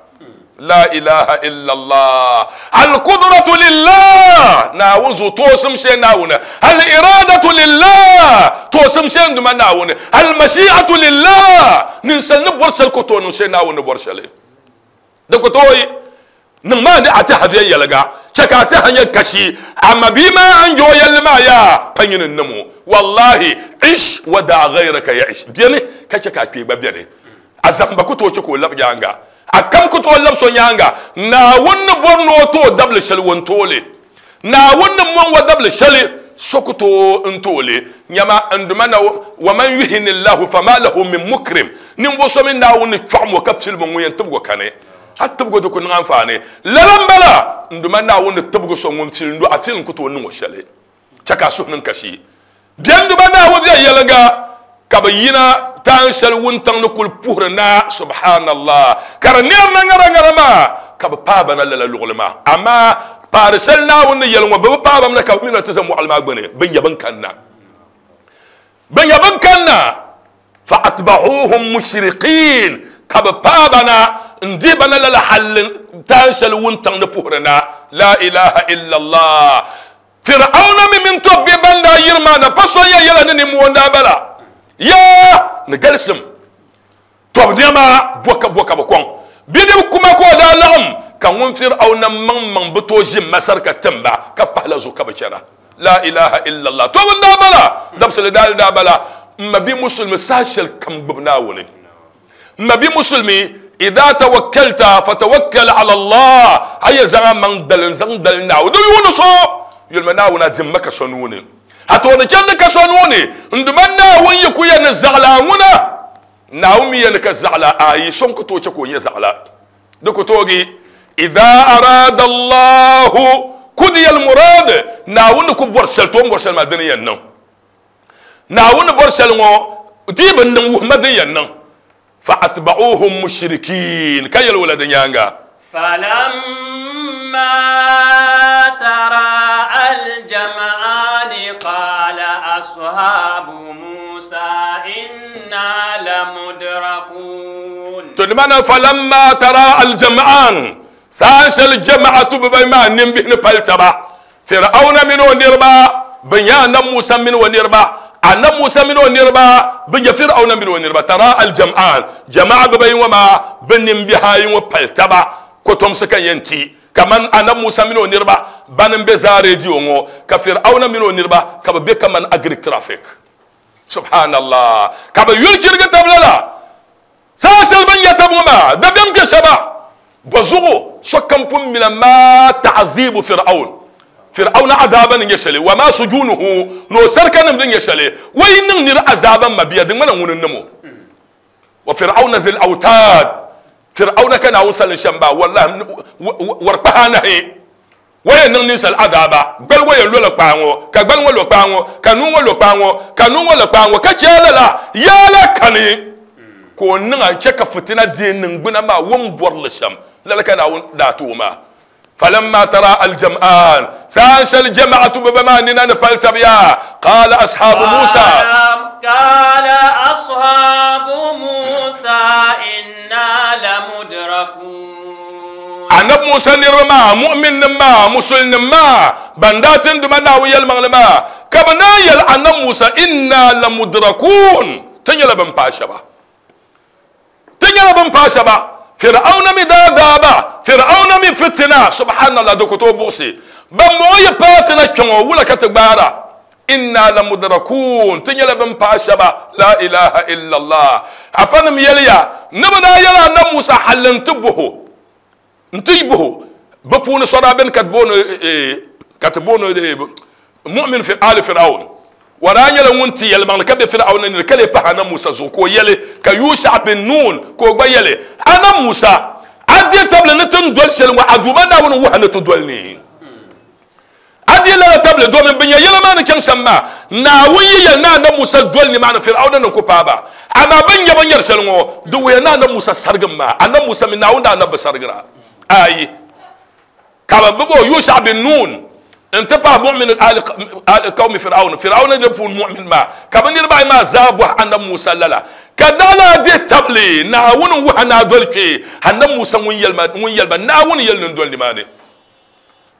La ilaha illallah. Al-qudratu lillah. Naawuni zuɣu toosim shee Naawuni. Al-iradatu lillah. Toosim shee n-duma Naawuni. Al-mashi'atu lillah. Ninsal ni bɔri shɛli ku tooi niŋ shee Naawuni ni bɔri shɛli. Di ku tooi niŋ maa ni a tɛha viɛnyɛliŋga. Chɛ ka a tɛha nyɛ kashi. A mabia maa a ni je o yɛlli maa yaa pa nyini n-niŋ o. Wallahi, ish wa da'a ghayraka ya'ish. Beni ka chɛ ka a kpee gba beni. A zahimba ku tooi chɛ ka o labi nyaaŋa. A kam ku tooi labi so nyaaŋa. Naawuni ni bɔri ni o ti o dabili shɛli, o ni ti o li. Naawuni ni mɔŋ o dabili shɛli, so ku tooi n-ti o li. Nyama, n Duuma na, wa man yuhini Allahu fama lahu min mukrim, ninvuɣ so mi Naawuni ni chɔɣim o ka pilim o, ŋun yɛn tibig o kani. A tibigi o di ku niŋ anfaani. Lala m-bala, n Duuma Naawuni ni tibigi so ŋun pili n-do, a pili n-ku tooi niŋ o shɛli. Chɛ ka a suhu niŋ kasi. Bɛn Duuma Naawuni viɛnyɛliŋga ka bɛ yina. Taan shɛli wuntaŋ ni kuli puhiri na, subhanallah, ka di neerina ŋara ŋara maa, ka bɛ paai ba na lala luɣili maa. Amaa paari shɛli Naawuni ni yɛli ŋɔ, bɛ bi paai ba mi na ka bɛ mi na ti za mɔɣili maa gbuni, bɛ nya bɛn kanna. Bɛ nya bɛn kanna, fa atba'uhum mushriqin, ka bɛ paai ba na n-dihi ba na lala halli taan shɛli wuntaŋ ni puhiri na. La ilaha illallah. Fir'auna mi mini tɔbbihi ban daa yiri maa na pa so yɛn yɛla ni nimmoo n-daa bala. Yaa! Ni galisim tɔbu nɛma bɔ ka bɔ ka bɛ kɔŋ. Bidib kuma ka o daa laɣim, ka ŋun Fir'auna maŋmaŋ bi tooi ʒi Masar ka tim ba, ka pahila zuɣu ka bɛ chana. La ilaha illallah. Tɔbu n-daa bala, dabisili daa daa bala. M ma bi musulimi saha shɛli kam gbubi Naawuni. M ma bi musulimi, idha tawakkalta fatawakkal ala Allah, a yɛn zaŋ a maŋ dali n-zaŋ dali Naawuni. Di yuuni so yulima Naawuni a dimma ka so nuu ni. A tooni chandi ka so nuu ni. N Duuma Naawuni yi ku yɛn ni zaɣila a ŋuna, Naawuni mi yɛn ni ka zaɣila a yi so n-ku tooi chɛ ka o nyɛ zaɣila. Di ku toogi, idha arada Allahu kudiya al-murad, Naawuni ni ku bɔri shɛli, to o ni bɔri shɛli maa dini yɛn niŋ. Naawuni ni bɔri shɛli ŋɔ di yi bi niŋ wuhima din yɛn niŋ. Fa atba'uhum mushrikin, ka yɛli wula di nyaaŋa? Falamma tara'a al-jam'ani qala ashabu Musa inna lamudrakun. To di maana falamma tara'a al-jam'an, saha shɛli jama'atu bibayi maa nimbihi ni pali taba, Fir'auna mini o niriba, bɛ nya Annabi Musa mini o niriba, Annabi Musa mini o niriba, bɛ nya Fir'auna mini o niriba, tara al-jam'an, jama'a bibayi ŋɔ maa, bɛ nimbihi ayi ŋɔ pali taba, kotomsi ka yɛn ti, kaman Annabi Musa mini o niriba, bani m-be zaa radio ŋɔ, ka Fir'auna mini o niriba ka bɛ be kaman agric traffic. Subhanallah! Ka bɛ yuli chirigi tab lala. Saha shɛli bɛ ni nya tab ŋɔ maa, dabiɛm kpe shɛba. Bɔzuɣu sokam pun mina maa ta'dhibu Fir'aun, Fir'auna azaaba ni nyɛ shɛli, wa maa sujunuhu, ni o sarikanim ni nyɛ shɛli. O yi niŋ nira azaaba m mabia, di ŋmana ŋuni n-niŋ o. Wa Fir'auna dhil awtad, Fir'auna ka Naawuni salin shɛm maa, wallahi warikpahi anahi. O yɛn niŋ ninsal azaaba, gbali ŋɔ yɛn lola kpaa ŋɔ, ka gbali ŋɔ lo kpaa ŋɔ, ka nuu ŋɔ lo kpaa ŋɔ, ka nuu ŋɔ lo kpaa ŋɔ, ka chɛ a lala, yaa la kani ka o niŋ a n-chɛ ka fitina deei niŋgbuna maa o ni bɔri li shɛm. Lala ka Naawuni daa ti o maa. Falamma tara al-jam'an, saha shɛli jama'atu bɛ ba maa nina ni pali tab yaa, qaala ashabu Musa. Qaala ashabu Musa inna lamudrakun. Annabi Musa niriba maa, mu'minnim maa, musulnim maa, ban daa ti n Duuma Naawuni yɛlimaŋli maa, ka bɛ naan yɛli Annabi Musa, Inna lamudrakun, ti nyɛla bɛn paai shɛba. Ti nyɛla bɛn paai shɛba. Fir'auna mi daa daa ba, Fir'auna mi fitina, subhanallah, di ku tooi buɣisi. Bɛmbɔŋɔ yi paai ti na kpiɔŋɔ, wula ka ti gbaara? Inna lamudrakun, ti nyɛla bɛn paai shɛba, la ilaha illallah. Afanim yɛliya, ni bɛ daa yɛli Annabi Musa halli nti bɔh o, nti bɔh o, bɛ puuni so daa beni ka ti booni, ka ti booni mu'min fi ali Fir'aun. O daa nyɛla ŋun ti yɛlimaŋli ka be Fir'auna nini ka lee pahi Annabi Musa zuɣu, ka o yɛli, ka Yusha bin Nun, ka o gba yɛli, Annabi Musa, a deei tabili ni ti ni doli shɛli ŋɔ, a Duuma Naawuni wuhi a ni ti doli ni. A deei lala tabili domin bɛ nya yɛla maa ni chaŋ shɛm maa. Naawuni yi yɛli ni Annabi Musa doli nimaani, Fir'auna ni ku paai ba. Amaa bɛ ni nya bɛ ni nyari shɛli ŋɔ, di wuhiya ni Annabi Musa sarigim maa. Annabi Musa mi Naawuni daa nabi bi sarigira. Ayi! Ka bɛ gbibi o, Yusha bin Nun, n-ti pahi mu'min ali qawmi Fir'aun, Fir'auna niriba puuni mu'min maa, ka bɛ niriba ayi maa zaa bɔhi Annabi Musa lala. Ka daa lahi deei tabili Naawuni n-wuhi a ni a doli kpee. Annabi Musa ŋun yɛli ma, Naawuni yɛli ni n doli nimaani.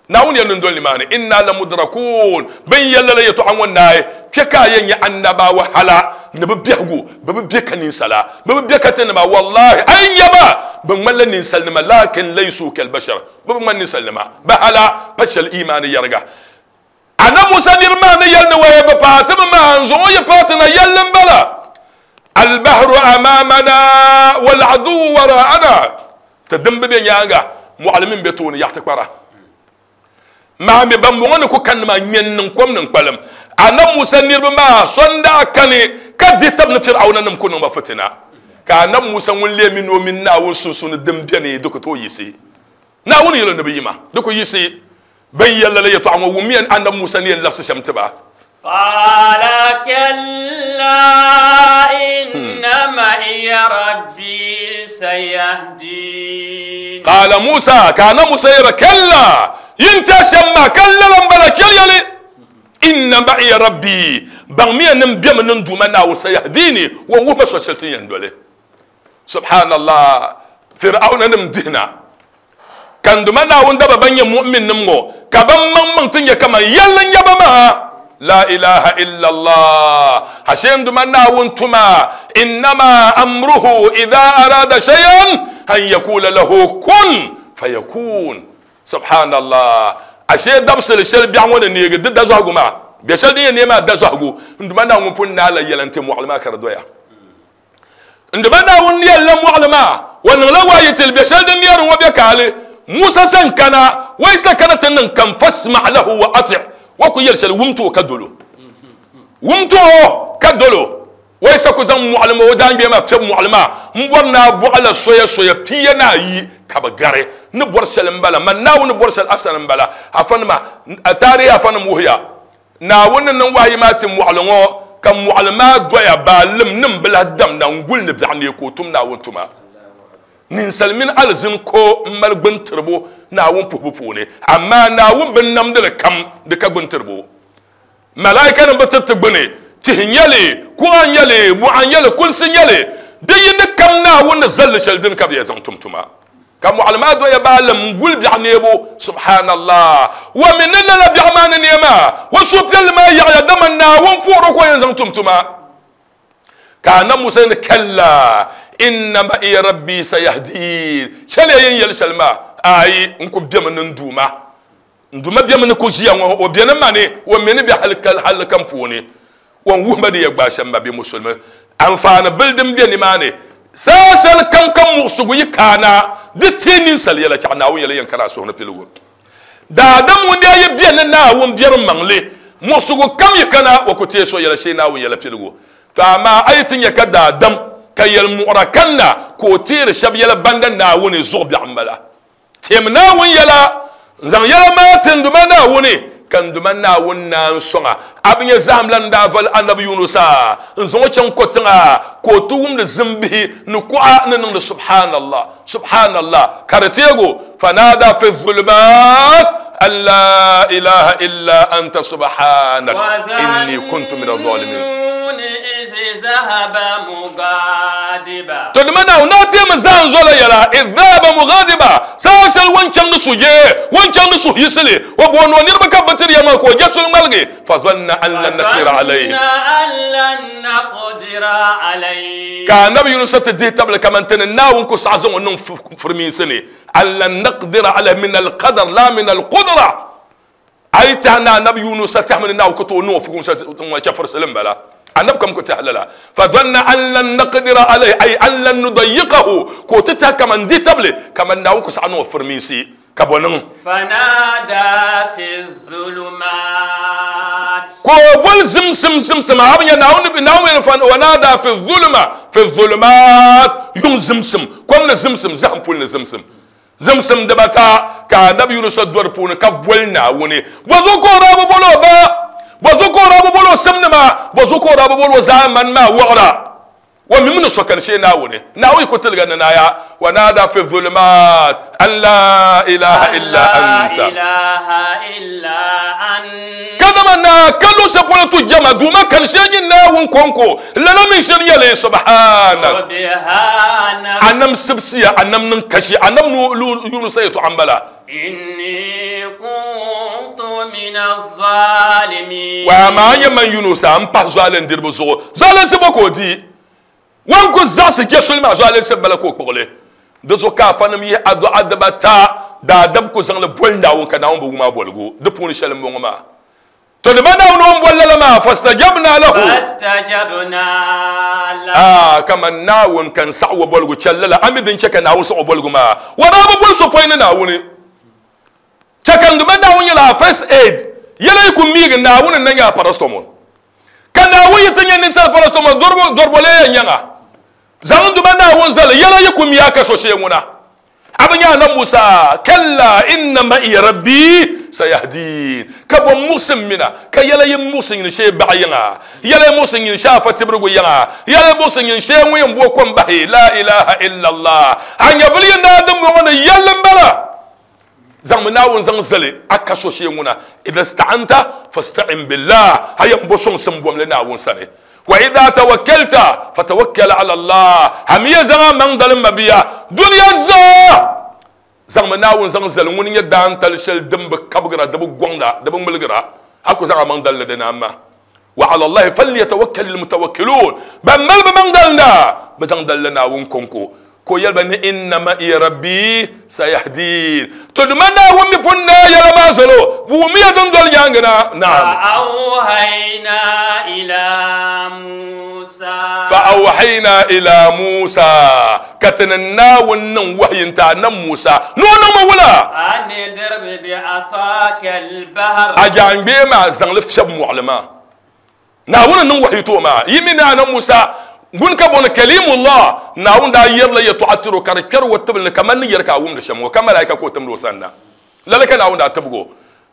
Naawuni yɛli ni n doli nimaani, Inna lamudrakun, bɛ ni yɛli lala yɛtɔɣa ŋɔ naai, kpe ka a yɛn nya annabawa hala ni bɛ biɛhigu, bɛ bi be ka ninsala, bɛ bi be ka tinima, wallahi, a yi nya ba, bɛ ŋmanila ninsalinima, lakin laysu kalbashar, bɛ bi ŋmani ninsalinima, bɛ hala pa shɛli imaani yɛriga. Annabi Musa niriba maa ni yɛli ni waya bi paai ti mi maa, n zaŋ o yi paai ti na, yɛlli m-bala, Albahru amamana wal-aduwwu wara'ana. Ti dim bi be nyaaŋa, mɔɣili mi m-be tooni yaɣi ti kpara. Maa mi bambɔŋɔ ni ku kanni maa ŋme n-niŋ kom ni n-kpalim. Annabi Musa niriba maa so n-daa kani ka dihi tab ni Fir'auna nim ku niŋ ba fitina. Ka Annabi Musa ŋun leei mi ni o mini Naawuni sunsuuni din beni di ku tooi yiɣisi. Naawuni yɛl o ni bɛ yi ma, di ku yiɣisi. Bɛn yɛli lala yɛtɔɣa ŋɔ wummiya Annabi Musa ni yɛn labisi shɛm ti ba. Qaala kalla inna سيهدين. Qala Musa, ka annabi Musa yɛli ba, Kalla, yin tɛhi shɛm maa, ka lala m-bala, chɛliya li. Inna ma'iya Rabbi, baŋmiya ni m bemi ni n Duuma Naawuni, sayahdini, o ni wuhi ma so shɛli ti ni yɛn doli. Subhanallah, Fir'auna nim dihina, ka n Duuma Naawuni daba ban nyɛ mu'minnim ŋɔ, ka ban maŋmaŋ ti nyɛ kaman yɛlli n-nyɛ ba maa. La ilaha illallah, ashe n Duuma Naawuni tuma, innama amruhu idha arada shay'an an yakula lahu kun fayakun. Subhanallah, ashe dabisili shɛli biɛɣu ŋɔ ni neegi di dazɔhigu maa, bɛ shɛli din yɛn neei maa dazɔhigu, n Duuma Naawuni ŋun pun naai la yɛla n-ti mɔɣili maa ka di doya. N Duuma Naawuni yɛlila mɔɣili maa, o niŋla waayi tili bɛ shɛli din neeri ŋɔ bɛ kaali. Musa sani kana, o yi sa kana ti niŋ kam, fasma lahu wa ati', o ku yɛli shɛli wum ti o ka dol o. Wum ti o ka dol o. O yi sa ku zaŋ mɔɣili maa, o daangbee maa fiɛbi mɔɣili maa m-bɔri ni a bɔɣila soya soya pia ni ayi ka bɛ gari. N ni bɔri shɛli m-bala, man Naawuni ni bɔri shɛli a sani m-bala. Afanima, taarihi afanim wuhiya, Naawuni ni niŋ wahayi maa ti mɔɣili ŋɔ, ka mɔɣili maa doya baalim ni m-bi lahi damda n-guli ni biɛɣu neei ka o tum Naawuni tuma. Ninsal mini alizini ko m-mali gbintiribu Naawuni puhibu puuni, amaa Naawuni binnamdili kam di ka gbintiribu. Malaikanim bi tiriti gbini, tihi n-nyɛ li, kuɣa n-nyɛ li, mɔɣa n-nyɛ li, kulisi n-nyɛ li, di yi ni kam Naawuni ni zal li shɛli dini ka bɛ yɛn zaŋ tum tuma. Ka mɔɣili maa doya baalim n-guli biɛɣu neebu. Subhanallah! Wa mi ni lala biɛɣu maa ni neei maa, o suhupiɛlli maa yaɣiya, dama Naawuni puhiri o ka o yɛn zaŋ tum tuma. Ka Annabi Musa yɛli, Kalla, inna ma'iya Rabbi sayahdin. Chɛliya yin yɛli shɛli maa, Aai, n ku bemi ni n Duuma. N Duuma bemi ni ku ʒiya ŋɔ, o beni ma ni, o mi ni be hali kam puuni. O ni wuhi ma di yɛn gbaai shɛm ma bɛ Musulimi anfaani bili din be nimaani. Saha shɛli kam ka muɣisigu yi kaana, di ti ninsal yɛla chaɣ Naawuni yɛla yɛn kana a suhu ni piligu. Daadam ŋun daa yi be ni Naawuni biɛrim maŋli, muɣisigu kam yi kana, o ku teei so yɛla shee Naawuni yɛla piligu. To amaa a yi ti nya ka daadam ka yɛlimuɣira kanna ka o teeri shɛb yɛla banda Naawuni zuɣu biɛɣu m-bala. Teemi Naawuni yɛla, n-zaŋ yɛla maa ti n Duuma Naawuni, ka n Duuma Naawuni naan sɔŋ a. A bi nya zahim la ni daa vali Anabi Yunusa n-zaŋ o chaŋ kɔtiŋa ka o ti wumdi zimbihi ni kuɣa ni niŋdi subhanallah, subhanallah, ka di teeg o, Fanada fi zulumaat an laa ilaha illa anta subhanak inni kuntu mina zalimin. To dama Naawuni daa teemi zahim zola yɛla, idh dhahaba mughadiba, saha shɛli o ni chaŋ ni sujee, o ni chaŋ ni suhuyiɣisili, o booni o niriba ka bɛ bi tiri ya maa ka o je suli ŋmaligi, fadhanna an lan naqdira alayhi. Ka Anabi Yunusa ti dihi tabili kaman ti ni Naawuni ku saɣi zaŋ o niŋ firimiinsi ni, an lan naqdira alayhi min alqadar la min alqudra. A yi tɛha ni Anabi Yunusa tɛhimi ni Naawuni ku tooi niŋ o fukumsi ŋɔ chɛfurisili m-bala. Anabi kam ku tɛhi lala. Fadhanna an lan naqdira alayhi ay an lan nudayiqahu, ka o ti tɛhi kaman di tabili kaman Naawuni ku saɣi niŋ o firimiinsi, ka bɔ niŋ? Fanada fi zulumat. Ka o boli zimsim zimsim, a bi nya Naawuni ni Naawuni ni fanada fi zuluma fi zulumat, yuŋ zimsim, kom ni zimsim, zahim puli ni zimsim. Zimsim dibata ka Anabi Yunusa do di puuni ka boli Naawuni. Bɔzuɣu ka o daa bi boli o ba? Bɔzuɣu ka o daa bi boli o simnima? Bɔzuɣu ka o daa bi boli o zaamani maa wɔɣira? O mi mi ni so kani shee Naawuni. Naawuni yi ku tiligi ni naaya, Wa naada fi zulumaat an laa ilaha illa anta. Kadama naa ka luɣ shɛli polo tu jɛma Duuma kani shee nyin Naawuni kɔŋko. Lala mi shiri nyɛ li, Subhanak. A nam sibisiya, a nam niŋ kashi, a nam Yunusa yɛtɔɣa m-bala. Inni kuntu mina zalimin. Wa amaa a nyɛ man Yunusa m-pahi zualindiriba zuɣu. Zualinsi bɔ ka o di? Ŋun ku zaɣisi je suli maa zualinsi m-bala ka o kpuɣi li. Di zuɣu ka afanim yihi adu'a dibata daadam ku zaŋ li boli Naawuni ka Naawuni bi wum a boligu. Di puuni shɛli m-bɔŋɔ maa. To di ma Naawuni o ni boli lala maa, fastajabna lahu. Fastajabna lahu. Aa, kaman Naawuni ka n saɣi o boligu chɛli lala, a mi din chɛ ka Naawuni saɣi o boligu maa? O daa bi boli so pɔi ni Naawuni. Chɛ ka n di ma Naawuni nyɛla a first aid. Yɛla yi ku miigi, Naawuni n-na nyɛ a paracetamol. Ka Naawuni yi ti nyɛ ninsal paracetamol, dɔribo lee yɛn nyaŋ a. Zaŋ n di ma Naawuni zali, yɛla yi ku mi a ka so shee ŋuna. A bi nya Annabi Musa? Kalla inna ma'iya rabbi sayahdin. Ka bɔ muɣisi m mina, ka yɛla yi muɣisi nyini shee baɣa yiŋa, yɛla yi muɣisi nyini shee afa tibirigu yiŋa, yɛla yi muɣisi nyini shee ŋun yɛn bo kom bahi. La ilaha illallah. A nyɛvili yi naai dimbɔŋɔ ni yɛlli m-bala. Zaŋmi Naawuni zaŋ zali a ka so shee ŋuna. Idha sta'anta fasta'in billah. A yɛn bo sɔŋsim bom li Naawuni sani. Wa idha tawakkalta fatawakkal ala Allah. A mi yɛn zaŋ a maŋ dalim mabia dunia zaa. Zaŋmi Naawuni zaŋ zali ŋuni nyɛ daantali shɛli din bi kabigira, di bi gɔŋda, di bi ŋmiligirA. A ku zaŋ a maŋ dalli di ni amma. Wa ala Allahi falyatawakkalil mutawakkiluun. Ban mali bɛ maŋ dalinda, bɛ zaŋ dalila Naawuni kɔŋko. Ka o yɛli ba ni inna ma'iya rabbi sayahdin. To dama Naawuni mi pun naai yɛla maa zalo, bɛ wummiya din doli nyaaŋa na. Naam. Fa-awhayna ila Musa. Fa-awhayna ila Musa. Ka ti ni Naawuni niŋ wahayi n-ti Annabi Musa ni o niŋmi wula? An idrib bi'asaka al-bahr. A jaaŋgbee maa zaŋ li fiɛbi mɔɣili maa. Naawuni n-niŋ wahayi ti o maa. Yi mi ni Annabi Musa ŋuni ka booni Kalimullah, Naawuni daa yɛrila yɛtɔɣa tiri o ka di kpɛri o tibili ni kamani ni yɛri ka a wumdi shɛm ŋɔ, ka malaika ka o timdi o sanna. Lala ka Naawuni daa tibigi o.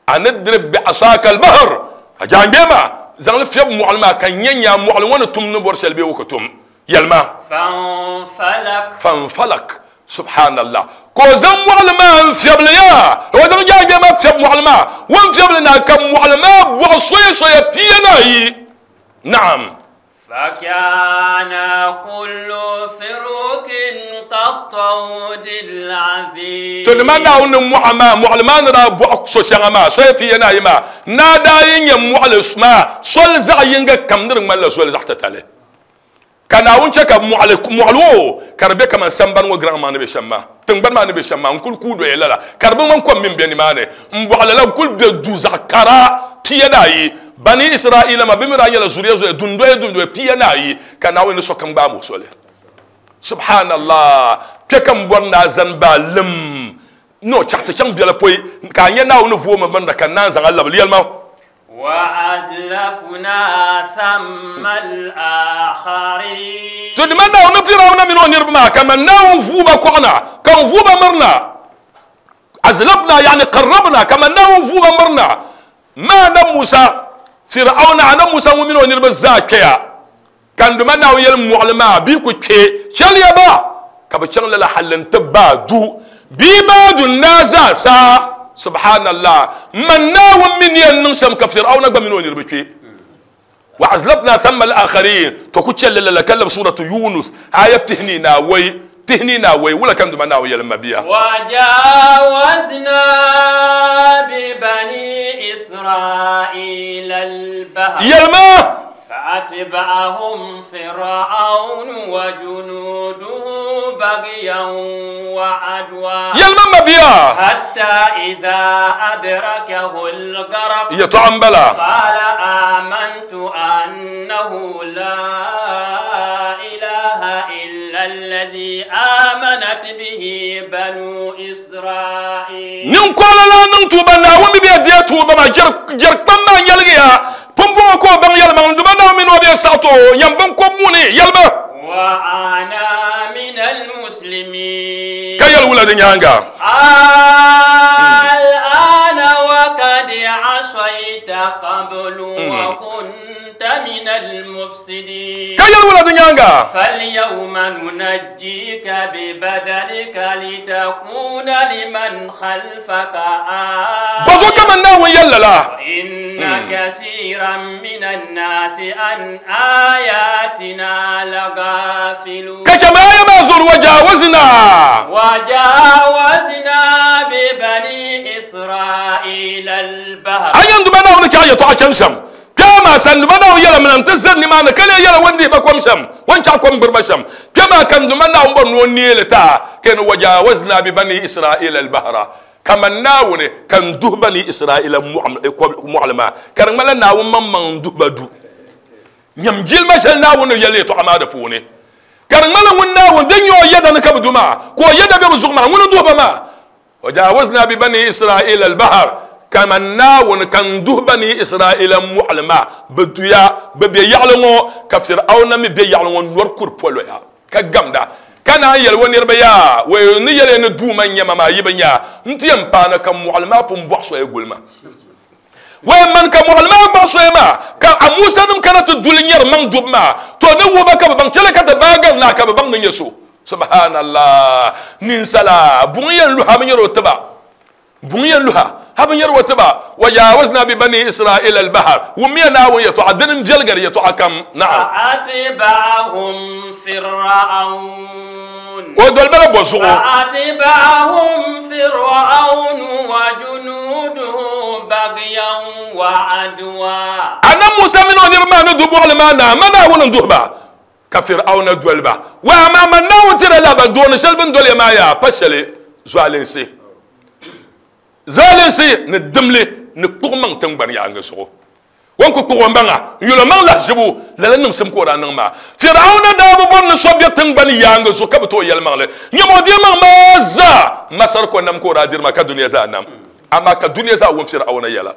An idrib bi'asaka al-bahr, A jaaŋgbee maa zaŋ li fiɛbi mɔɣili maa ka n nya nya mɔɣili ŋɔ ni tum ni bɔri shɛli bee o ku tum. Yɛlima. Fanfalak. Fanfalak. Subhanallah. Ka o zaŋ mɔɣili maa n-fiɛbili ya, o zaŋ jaaŋgbee maa fiɛbi mɔɣili maa, o ni fiɛbili na ka mɔɣili maa bɔɣi soya soya pia ni ayi. Naam. Fakana kullu firukin kattawdil aziim. To nima Naawuni ni mɔɣa maa, mɔɣili maa ni daa bɔɣi so shɛŋa maa, soya pia ni ayi maa, naa daa yi nya mɔɣili maa soli zaɣ yiŋga kam ni di ŋmanila zoli zaɣ titali. Ka Naawuni chɛ ka mɔɣili mɔɣili o ka di be kaman sambani ŋɔ giraŋ maa ni be shɛm maa, tiŋgbani maa ni be shɛm maa n-kul kuui doya lala, ka di bi ŋmani kom mini be nimaani m-bɔɣi lala n-kul be du zaɣ kara 12. Bani Israaila maa, bɛ mi daa nyɛla zuliya zoya dundoya dundoya 12, ka Naawuni ni sokam gbaam o soli. Subhanallah! Kpe ka m bɔri ni a zani baalim ni o chaɣ ti chaŋ biɛla pɔi ka a nya Naawuni vooi ma binda ka n naan zaŋ a labili. Yɛlima. Wa-azlafna thamma al-akharin. To dima Naawuni Firawuna mini o niriba maa kaman Naawuni vuui ba kɔɣu na, ka n vuui ba miri na. Azlafna yani qarrabna, kaman Naawuni vuui ba miri na. Ma Annabi Musa, Fir'auna, Annabi Musa ŋun mini o niriba zaa kpeya, ka n dima Naawuni yɛli mɔɣili maa, bɛ yi ku kpe, chɛliya ba ka bɛ chaŋ lala halli n-ti baa du, bee baa du n-daa zaa sa. Subhanallah! Man Naawuni mi ni yɛn niŋ shɛm ka Fir'auna gba mini o niriba kpe. Wa azlafna thamma al-akharin, to ku chɛli lala ka labi Suratu Yunus aya pihinii ni awɔi, pihinii ni awɔi, wula ka n duma Naawuni yɛli m mabia? Wajawazna bi bani Israila al-bahr. Yɛlima. Fa'atba'ahum Fir'aunu wa junuduhu baghyan wa 'adwa. Yɛlima m mabia. Hatta idha adrakahu al-gharq. Yɛtɔɣa m-bala. Qala amantu annahu la ilaha illa alladhi amanat bihi banu Israil. Ninkɔɣila lan niŋ tuuba, Naawuni mi bɛ deei tuuba maa, jɛrikpam maa nyɛligiya. Pumpɔŋɔ ka o baŋ yɛlimaŋli, dama Naawuni mini o bɛ saɣi ti o yɛm biŋkɔb muni yɛlima. Wa ana min al-muslimin. Ka yɛli wula di nyaaŋa? Al-ana wa kad asayta qablu wa kunta min al-mufsidin. Ka yɛli wula di nyaaŋa? Fal-yawma nunajjika bi badanika litakuna liman khalfaka aaya. Bɔzuɣu ka man Naawuni yɛli lala? Inna kasiran min an-naasi an ayatina lagafilun. Ka chɛ ma aya maa zuɣu wajawazna. Wajawazna bi bani Israila al-bahr. A nya n Duuma Naawuni chaɣ yɛtɔɣa chani shɛm? Kpɛma maa sani Duuma Naawuni yɛla mina nti zani nimaani ka lee yɛla o ni dihi ba kom shɛm, o ni chaɣ kom gbiri ba shɛm. Kpɛma ka n Duuma Naawuni bɔri ni o neei li ti a, ka yɛli ni wajawazna bi bani Israila al-bahra. Kaman Naawuni ka n duhi Bani Israila mɔɣili maa, ka di ŋmanila Naawuni maŋmaŋ n-duhi ba du. Nyam jilima shɛli Naawuni ni yɛli yɛtɔɣa maa di puuni, ka di ŋmanila ŋun Naawuni din nyɛ o yɛda ni ka bɛ du maa, ka o yɛda be bɛ zuɣu maa, ŋuni n-duhi ba maa. Wajawazna bi Bani Israila al-bahr, kaman Naawuni ka n duhi Bani Israila mɔɣili maa, bɛ duya, bɛ be yaɣili ŋɔ, ka Fir'auna mi be yaɣili ŋɔ nɔri kuri poloya. Ka gamda, ka naan yɛli o niriba, Yaa, wee n ni yɛli ya ni Duuma n-nyɛ ma maa, yi bi nya a, n ti yɛn paana ka mɔɣili maa pun bɔɣi soya guli ma. Wai man ka mɔɣili maa gbaɣi soya maa, ka a Musa nim kana ti duli nyɛri maŋ dubu maa, to ni wuhi ba ka bɛ baŋ chɛli ka ti baai gari naa ka bɛ baŋ ni nyɛ so. Subhanallah! Ninsala, buŋ yɛn luhi a bi nyɛri o tiba. Buŋ yɛn luhi a bi nyɛri o tiba. Wajawazna bi bani Israila al-bahar. Wummiya Naawuni yɛtɔɣa, dini n-viɛligiri yɛtɔɣa kam. Naam. فأتبعهم فرعون. O doli ba la bɔ zuɣu? فأتبعهم فرعون وجنوده بغيا وعدوا. Annabi Musa mini o niriba maa ni du bɔɣili maa na, ma Naawuni n-duhi ba, ka Fir'auna doli ba. Wa amaa man Naawuni tira la ba dooni shɛli bɛ ni doli ya maa yaa pa shɛli zualinsi. Zualinsi ni dimli ni kpuɣi maŋ tiŋgbani yaaŋa zuɣu. O ni ku kpuɣi o maŋa n-yɛl o maŋ lahizibu, lala niŋsim ka o daa niŋ maa. Fir'auna daa bi bɔri ni so be tiŋgbani yaaŋa zuɣu ka bi tooi yɛlimaŋli. Nyama o deei maŋ maa zaa, Masar ko nam ka o daa diri maa ka dunia zaa nam. Amaa ka dunia zaa wum Fir'auna yɛla.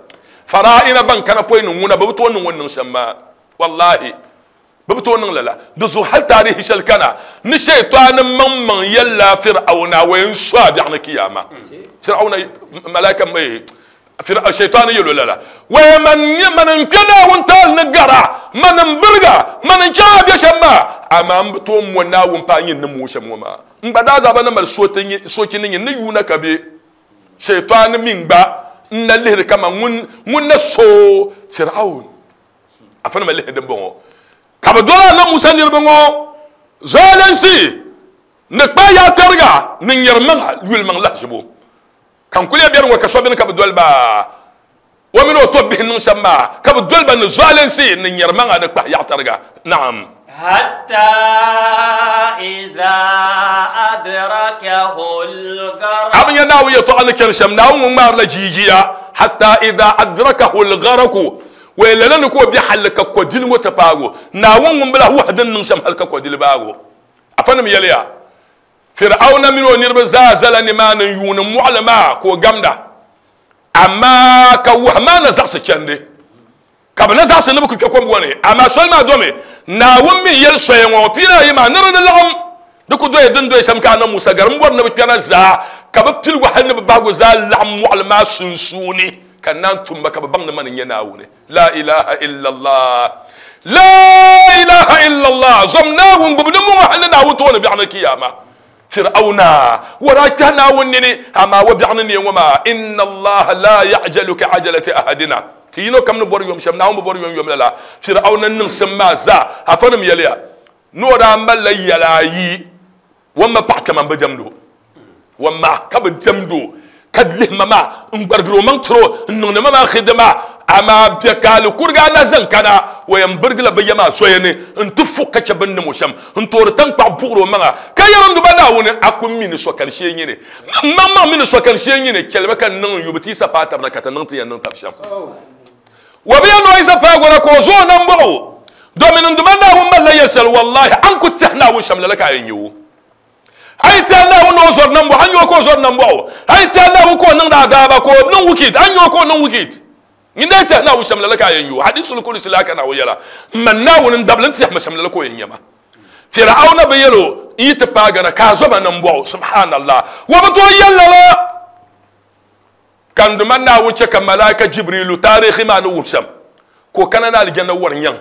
Fara'ina ban kana pɔi ni ŋuna, bɛ bi tooi niŋ o ni niŋ shɛm maa. Wallahi, bɛ bi tooi niŋ lala. Di zuɣu hali taarihi shɛli kana ni shɛitaani maŋmaŋ yɛlila Fir'auna o yɛn su a biɛɣu ni kiyama. Fir'auna malaika shaitaani yɛl o lala. Waya man nyɛ man n kpe Naawuni taali ni gara, man n biriga, man n chaŋ a bɛ shɛm maa, amaa m bi tooi mo Naawuni paai nyin ni mooi shɛm ŋɔ maa. N gba daa zaa ba ni mali sochi ni nyin ni yuuna ka be shaitaani mi gba n na lihiri kaman ŋun na so Fir'aun. Afa nima lihi din bɔŋɔ ka bɛ doli Annabi Musa niriba ŋɔ zualinsi ni kpa yaatariga ni nyɛri maŋa yuli maŋ lahizibu. Ka n kuli ya bɛri ŋɔ ka so bini ka bɛ doli ba o mini o tɔbbihi niŋ shɛm maa ka bɛ doli ba ni zualinsi ni nyɛri maŋa ni kpahi yaɣatariga. Naam. حتى إذا أدركه الغرق. Abin ya naawu yɛtɔɣa ni chani shɛm, Naawuni ŋun ŋmaarila jiijiya. Hatta idha adrakahu al-gharaq. Wai lala ni ka o be halli ka kɔdili ŋɔ ti paago. Naawuni ŋun bi lahi wahi din niŋ shɛm hali ka kɔdili baago. Afanim yɛliya, Fir'auna mini o niriba zaa zala nimaani n-yuuni mɔɣili maa ka o gamda. Amaa ka wahi maa na zaɣisi chandi. Ka bɛ na zaɣisi ni bɛ ku kpe kom ŋɔ ni. Amaa soli maa domi, Naawuni mi yɛli soya ŋɔ pia ayi maa ni di ni laɣim di ku doya din doya shɛm ka Annabi Musa gari m-bɔri ni bɛ kpɛna zaa ka bɛ piligu hali ni bɛ bahigu zaa laɣim mɔɣili maa sunsuuni ka naan tum ba ka bɛ baŋ ni mani n-nyɛ Naawuni. La ilaha illallah. La ilaha illallah. Zom Naawuni gbubi ni muŋɔ hali ni Naawuni tooni biɛɣu ni kiyama. Fir'auna wa daa kpɛhi Naawuni nini, amaa wa biɛɣu ni neei ŋɔ maa, inna Allaha la ya'jalu ka ajalati ahadina. Ti yino kam ni bɔri yom shɛm, Naawuni bi bɔri yom yom lala. Fir'auna niŋsim maa zaa, afanim yɛliya ni o daa malila yɛla ayi, o ma paɣa kaman bi diɛmdi o, o ma ka bi diɛmdi o, ka lihi ma maa n-gbarigiri o maŋ tiri o, n-niŋdi ma maa xidima, amaa bɛ ka ali kuriga a na zaŋ kana, o yɛn birigila bɛ ya maa zoya ni n-ti fuɣi ka chɛ bɛ ni niŋ o shɛm, n-toori taŋkpaɣu buɣiri o maŋa, ka yɛri n Duuma Naawuni, a ku mi ni sokani shee nyini, m maŋmaŋ mi ni sokani shee nyini, chɛli ba ka n niŋ n yubu ti yi sa paai tabina ka ti niŋ ti yɛn niŋ tab shɛm. Wa bi yɛn ni o yi sa paai gɔra ka o zo o nambɔɣu, domin n Duuma Naawuni malila yɛl shɛli, wallahi, a ni ku tɛhi Naawuni shɛm lala ka a yɛn nya o. A yi tɛhi Naawuni ni o zɔri nambɔɣu, a ni nya o ka o zɔri nambɔɣu. A yi tɛhi Naawuni ka o niŋdi adaaba, ka o niŋ wikid, a ni nya o ka o niŋ wikid. Nyin daa tɛhi Naawuni shɛm lala ka a yɛn nya o. Hadisul Kudusi laa ka Naawuni yɛla, M ma Naawuni n dabili n tɛhi ma shɛm lala ka o yɛn nya ma. Fir'auna bi yɛl o, n yi ti paai Gana ka a zo ma nambɔɣu. Subhanallah. O bi tooi yɛl lala. Ka n Duuma Naawuni chɛ ka Malaika Jibrilu taarihi maa ni wuhi shɛm, ka o kana ni alijanna wari nyaŋ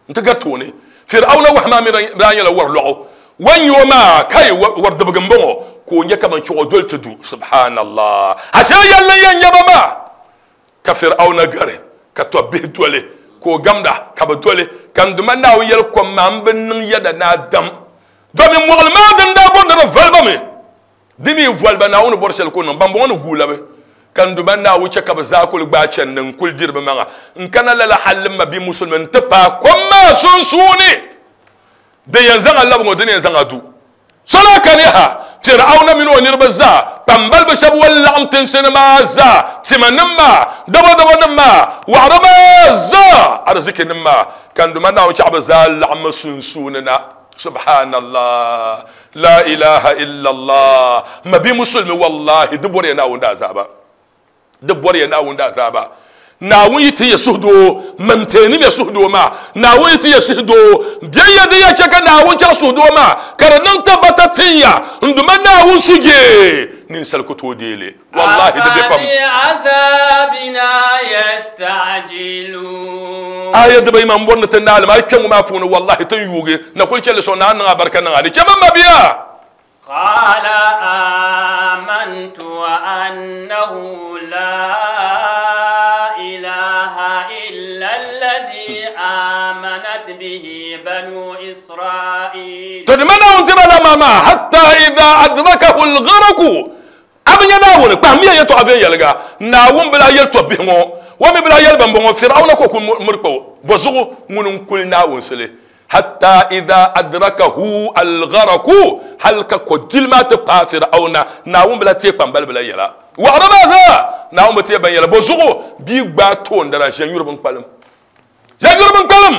nti gari tooni. Fir'auna wahi maa mi daa nyɛla wari lɔɣu. O ni nya o maa, kai, wari dibigi m-bɔŋɔ, ka o nya kaman chuɣu doli ti du. Subhanallah. Ashe yɛlli n-yɛn nya ba maa. Ka Fir'auna gari, ka tɔbbihi doli, ka o gamda, ka bɛ doli. Ka n Duuma Naawuni yɛli, Kom maa m-bi niŋ yɛda ni a dam. Domin mɔɣili maa din daa bɔri ni di voli ba mi, di mi voli ba Naawuni bɔri shɛli ka o niŋ. Bambɔŋɔ ni guui labi, ka n Duuma Naawuni chɛ ka bɛ zaa kuli gbaai chandi n-kuli diri bɛ maŋa n-kana lala hali m ma bia musulimi nti paai kom maa sunsuuni. Din yɛn zaŋ a labi ŋɔ, di ni yɛn zaŋ a du. Sola kani ha, Fir'auna mini o niriba zaa, kpambaliba shɛba o ni laɣim tinsi ni maa zaa, timanim maa, dabɔdabɔnim maa, waɣiri maa zaa, arizikinim maa, ka n Duuma Naawuni chaɣ bɛ zaa laɣimmi sunsuuni na. Subhanallah, la ilaha illallah. Ma bi musulmi, wallahi, di bɔriya Naawuni daazaaba. Di bɔriya Naawuni daazaaba. Naawuni yi ti ya suhudoo, man teenim ya suhudoo maa. Naawuni yi ti ya suhudoo, bɛ ya di ya chɛ ka Naawuni chaɣ suhudoo maa, ka di niŋ tabbata tin ya n Duuma Naawuni sujee. Ninsal ku tooi deei li. Wallahi di be pam. أفبعذابنا يستعجلون. Aya dibayi maa m-bɔri ni ti naai li maa, yi kpe ŋɔ maa puuni, wallahi ti ni yuugi na kuli chɛ li sɔŋ ni a niŋ a barika niŋ a ni chɛ ma mabia. قال آمنت أنه لا إله إلا الذي آمنت به بنو إسرائيل. To di ma Naawuni ti ba la maa maa, hatta idha adrakahu al-gharaqu, a bi nya Naawuni kpahimmiya yɛtɔɣa viɛnyɛliŋga. Naawuni bi lahi yɛli tɔbbihi ŋɔ, o mi bi lahi yɛli bambɔŋɔ, Fir'auna ka o kuli miri kpa o. Bɔzuɣu ŋuni n-kuli Naawuni sili? Hatta idha adrakahu al-gharaqu, hal ka kɔdili maa ti paai Fir'auna, Naawuni bi lahi teei kpambalibi la yɛla. Waɣiri maa zaa, Naawuni bi teei ban yɛla. Bɔzuɣu bia gbaai toondana ʒɛnyuri binkpalim. Ʒɛnyuri binkpalim!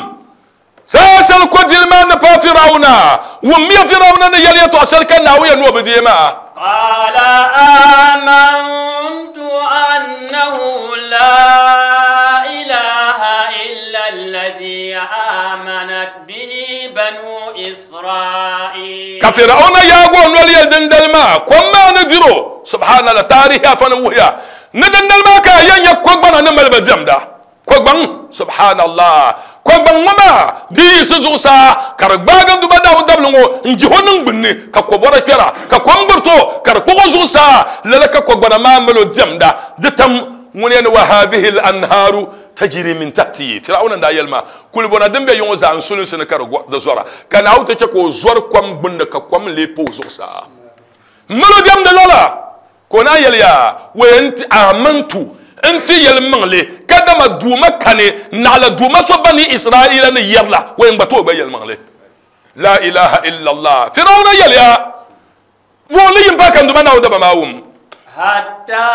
Saha shɛli kɔdili maa ni paai Fir'auna, wummiya Fir'auna ni yɛli yɛtɔɣ shɛli ka Naawuni yɛn ni o bi deei maa. قال آمنت أنه لا إله إلا الذي آمنت به بنو إسرائيل. Ka Fir'auna yaagi o noli yɛli dindali maa, kom maa ni dir o. Subhanallah, taarihi afa ni wuhiya ni dindali maa ka a yɛn nya kogbana ni mali ba diɛmda. Kogbaŋ, subhanallah, kogbaŋ ŋɔ maa di yiɣisi zuɣusaa ka di gbaagi n Duuma Naawuni dabili ŋɔ n-jihi o niŋgbunni ka kobɔra kpɛra ka kom gbiriti o ka di kpuɣ o zuɣusaa. Lala ka kogbana maa mali o diɛmda di tam ŋuni yɛn ni wa haadhihi al-anhaaru tajri min tahti. Fir'auna n-daa yɛli maa, kulibɔna din be yiŋɔ zaa n sulinsi ni ka di zɔra, ka Naawuni ti chɛ ka o zɔri kom gbunni ka kom lee pa o zuɣusaa. M mali o diɛmdi lala ka o naan yɛli ya, wa yɛn ti amantu n ti yɛlimaŋli ka dama Duuma kani naɣila Duuma so Bani Israaila ni yɛri la, o yɛn gba tooi gba yɛlimaŋli. La ilaha illallah. Fir'auna yɛliya, Vuhili yim paai ka n Duuma Naawuni daba maa wum. Hatta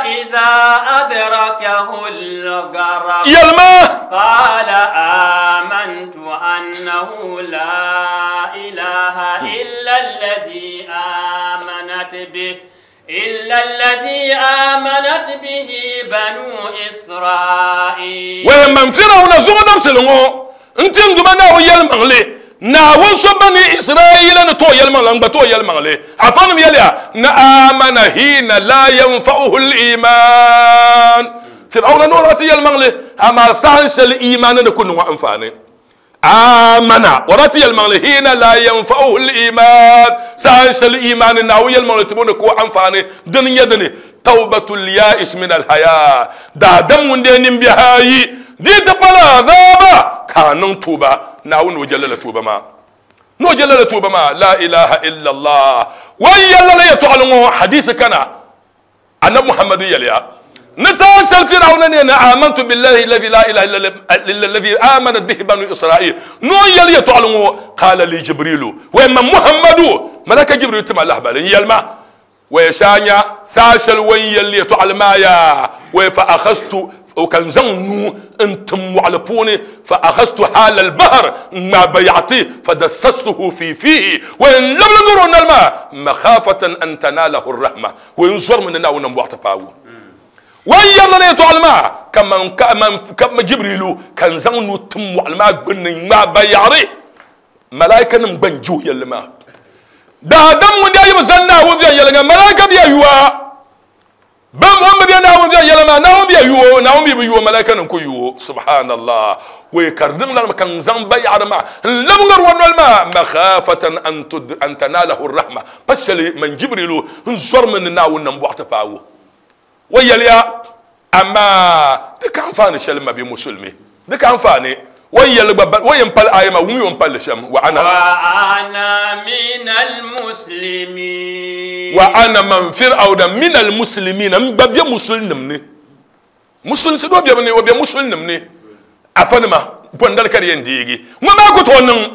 idha adrakahu al-gharaq. Yɛlima. Qala amantu annahu la ilaha illa alladhi amanat bihi. إلا الذي آمنت به بنو إسرائيل. Wai man Firawuna zuŋɔ dabisili ŋɔ n-ti n Duuma Naawuni yɛlimaŋli, Naawuni so Bani Israaila ni tooi yɛlimaŋli, n gba tooi yɛlimaŋli. Afanim yɛliya ni aamana hiina laa yanfa'uhu al-iimaan. Firawuna ni o daa ti yɛlimaŋli, amaa saha shɛli iimaani ni ku niŋ o anfaani. Aamana, o daa ti yɛlimaŋli, hiina laa yanfa'uhu al-iimaan, saha shɛli iimaani Naawuni yɛlimaŋli tibɔ ni ku o anfaani. Dini n-nyɛ dini, tawbatul yaa'is min al-hayaa, daadam ŋun dee nimbihi ayi di ti pala azaaba ka a niŋ tuuba Naawuni ni o je lala tuuba maa, ni o je lala tuuba maa. Laa ilaaha illallah. O ni yɛli lala yɛtɔɣili ŋɔ, hadiisi kana, Annabi Muhammadu yɛliya ni saha shɛli Firawuna ni yɛli ni amantu billahi alladhi la ilaha illa alladhi amanat bihi banu Israil, ni o ni yɛli yɛtɔɣili ŋɔ, qala li Jibrilu, wai man Muhammadu, malaka Jibrilu ti ma lahibali n-yɛli ma, wai shɛ a nya saha shɛli o ni yɛli yɛtɔɣili maa yaa, wai fa akhastu, ka n zaŋ n nuu n-tim mɔɣili puuni, fa akhastu hala al-bahr, n-ŋmaai bayaɣiti, fa dassastuhu fi fiihi, wai n-labili ŋari o noli maa, makhafatan an tanalahu ar-rahma, wai n zɔrimi ni Naawuni nambɔɣu ti paagi o. O ni yɛri lala yɛtɔɣili maa, ka man, ka man, ka Jibrilu, ka n zaŋ n nuu tim mɔɣili maa gbunni n-ŋmaai bayaɣiri, Malaikanim gba n-je o yɛlli maa. Daadam ŋun daa yi bi zani Naawuni viɛnyɛliŋga, malaika bia yuwa. Bam o ni bi be Naawuni viɛnyɛla maa, Naawuni bia yu o, Naawuni mi bi yu o, malaikanim ku yu o. Subhanallah! Wei ka di niŋ lala ka n zaŋ bayaɣiri maa n-lab ŋari o noli maa, makhafatan an tanalahu rahma, pa shɛli man Jibrilu n zɔrimi ni Naawuni nambɔɣu ti paagi o. O yɛliya, Amaa di ka anfaani shɛli ma bɛ Musulimi, di ka anfaani. O ni yɛli gba, o yɛn pali aaya maa, wummi o ni pali li shɛm, Wa ana. Wa ana minal muslimin. Wa ana man Fir'auna minal muslimin, n gba be Musulinim ni. Musulinsi doo bebu ni, o be Musulinim ni. Afanima, bɔndali ka di yɛn deegi. Ŋɔ maa ku tooi niŋ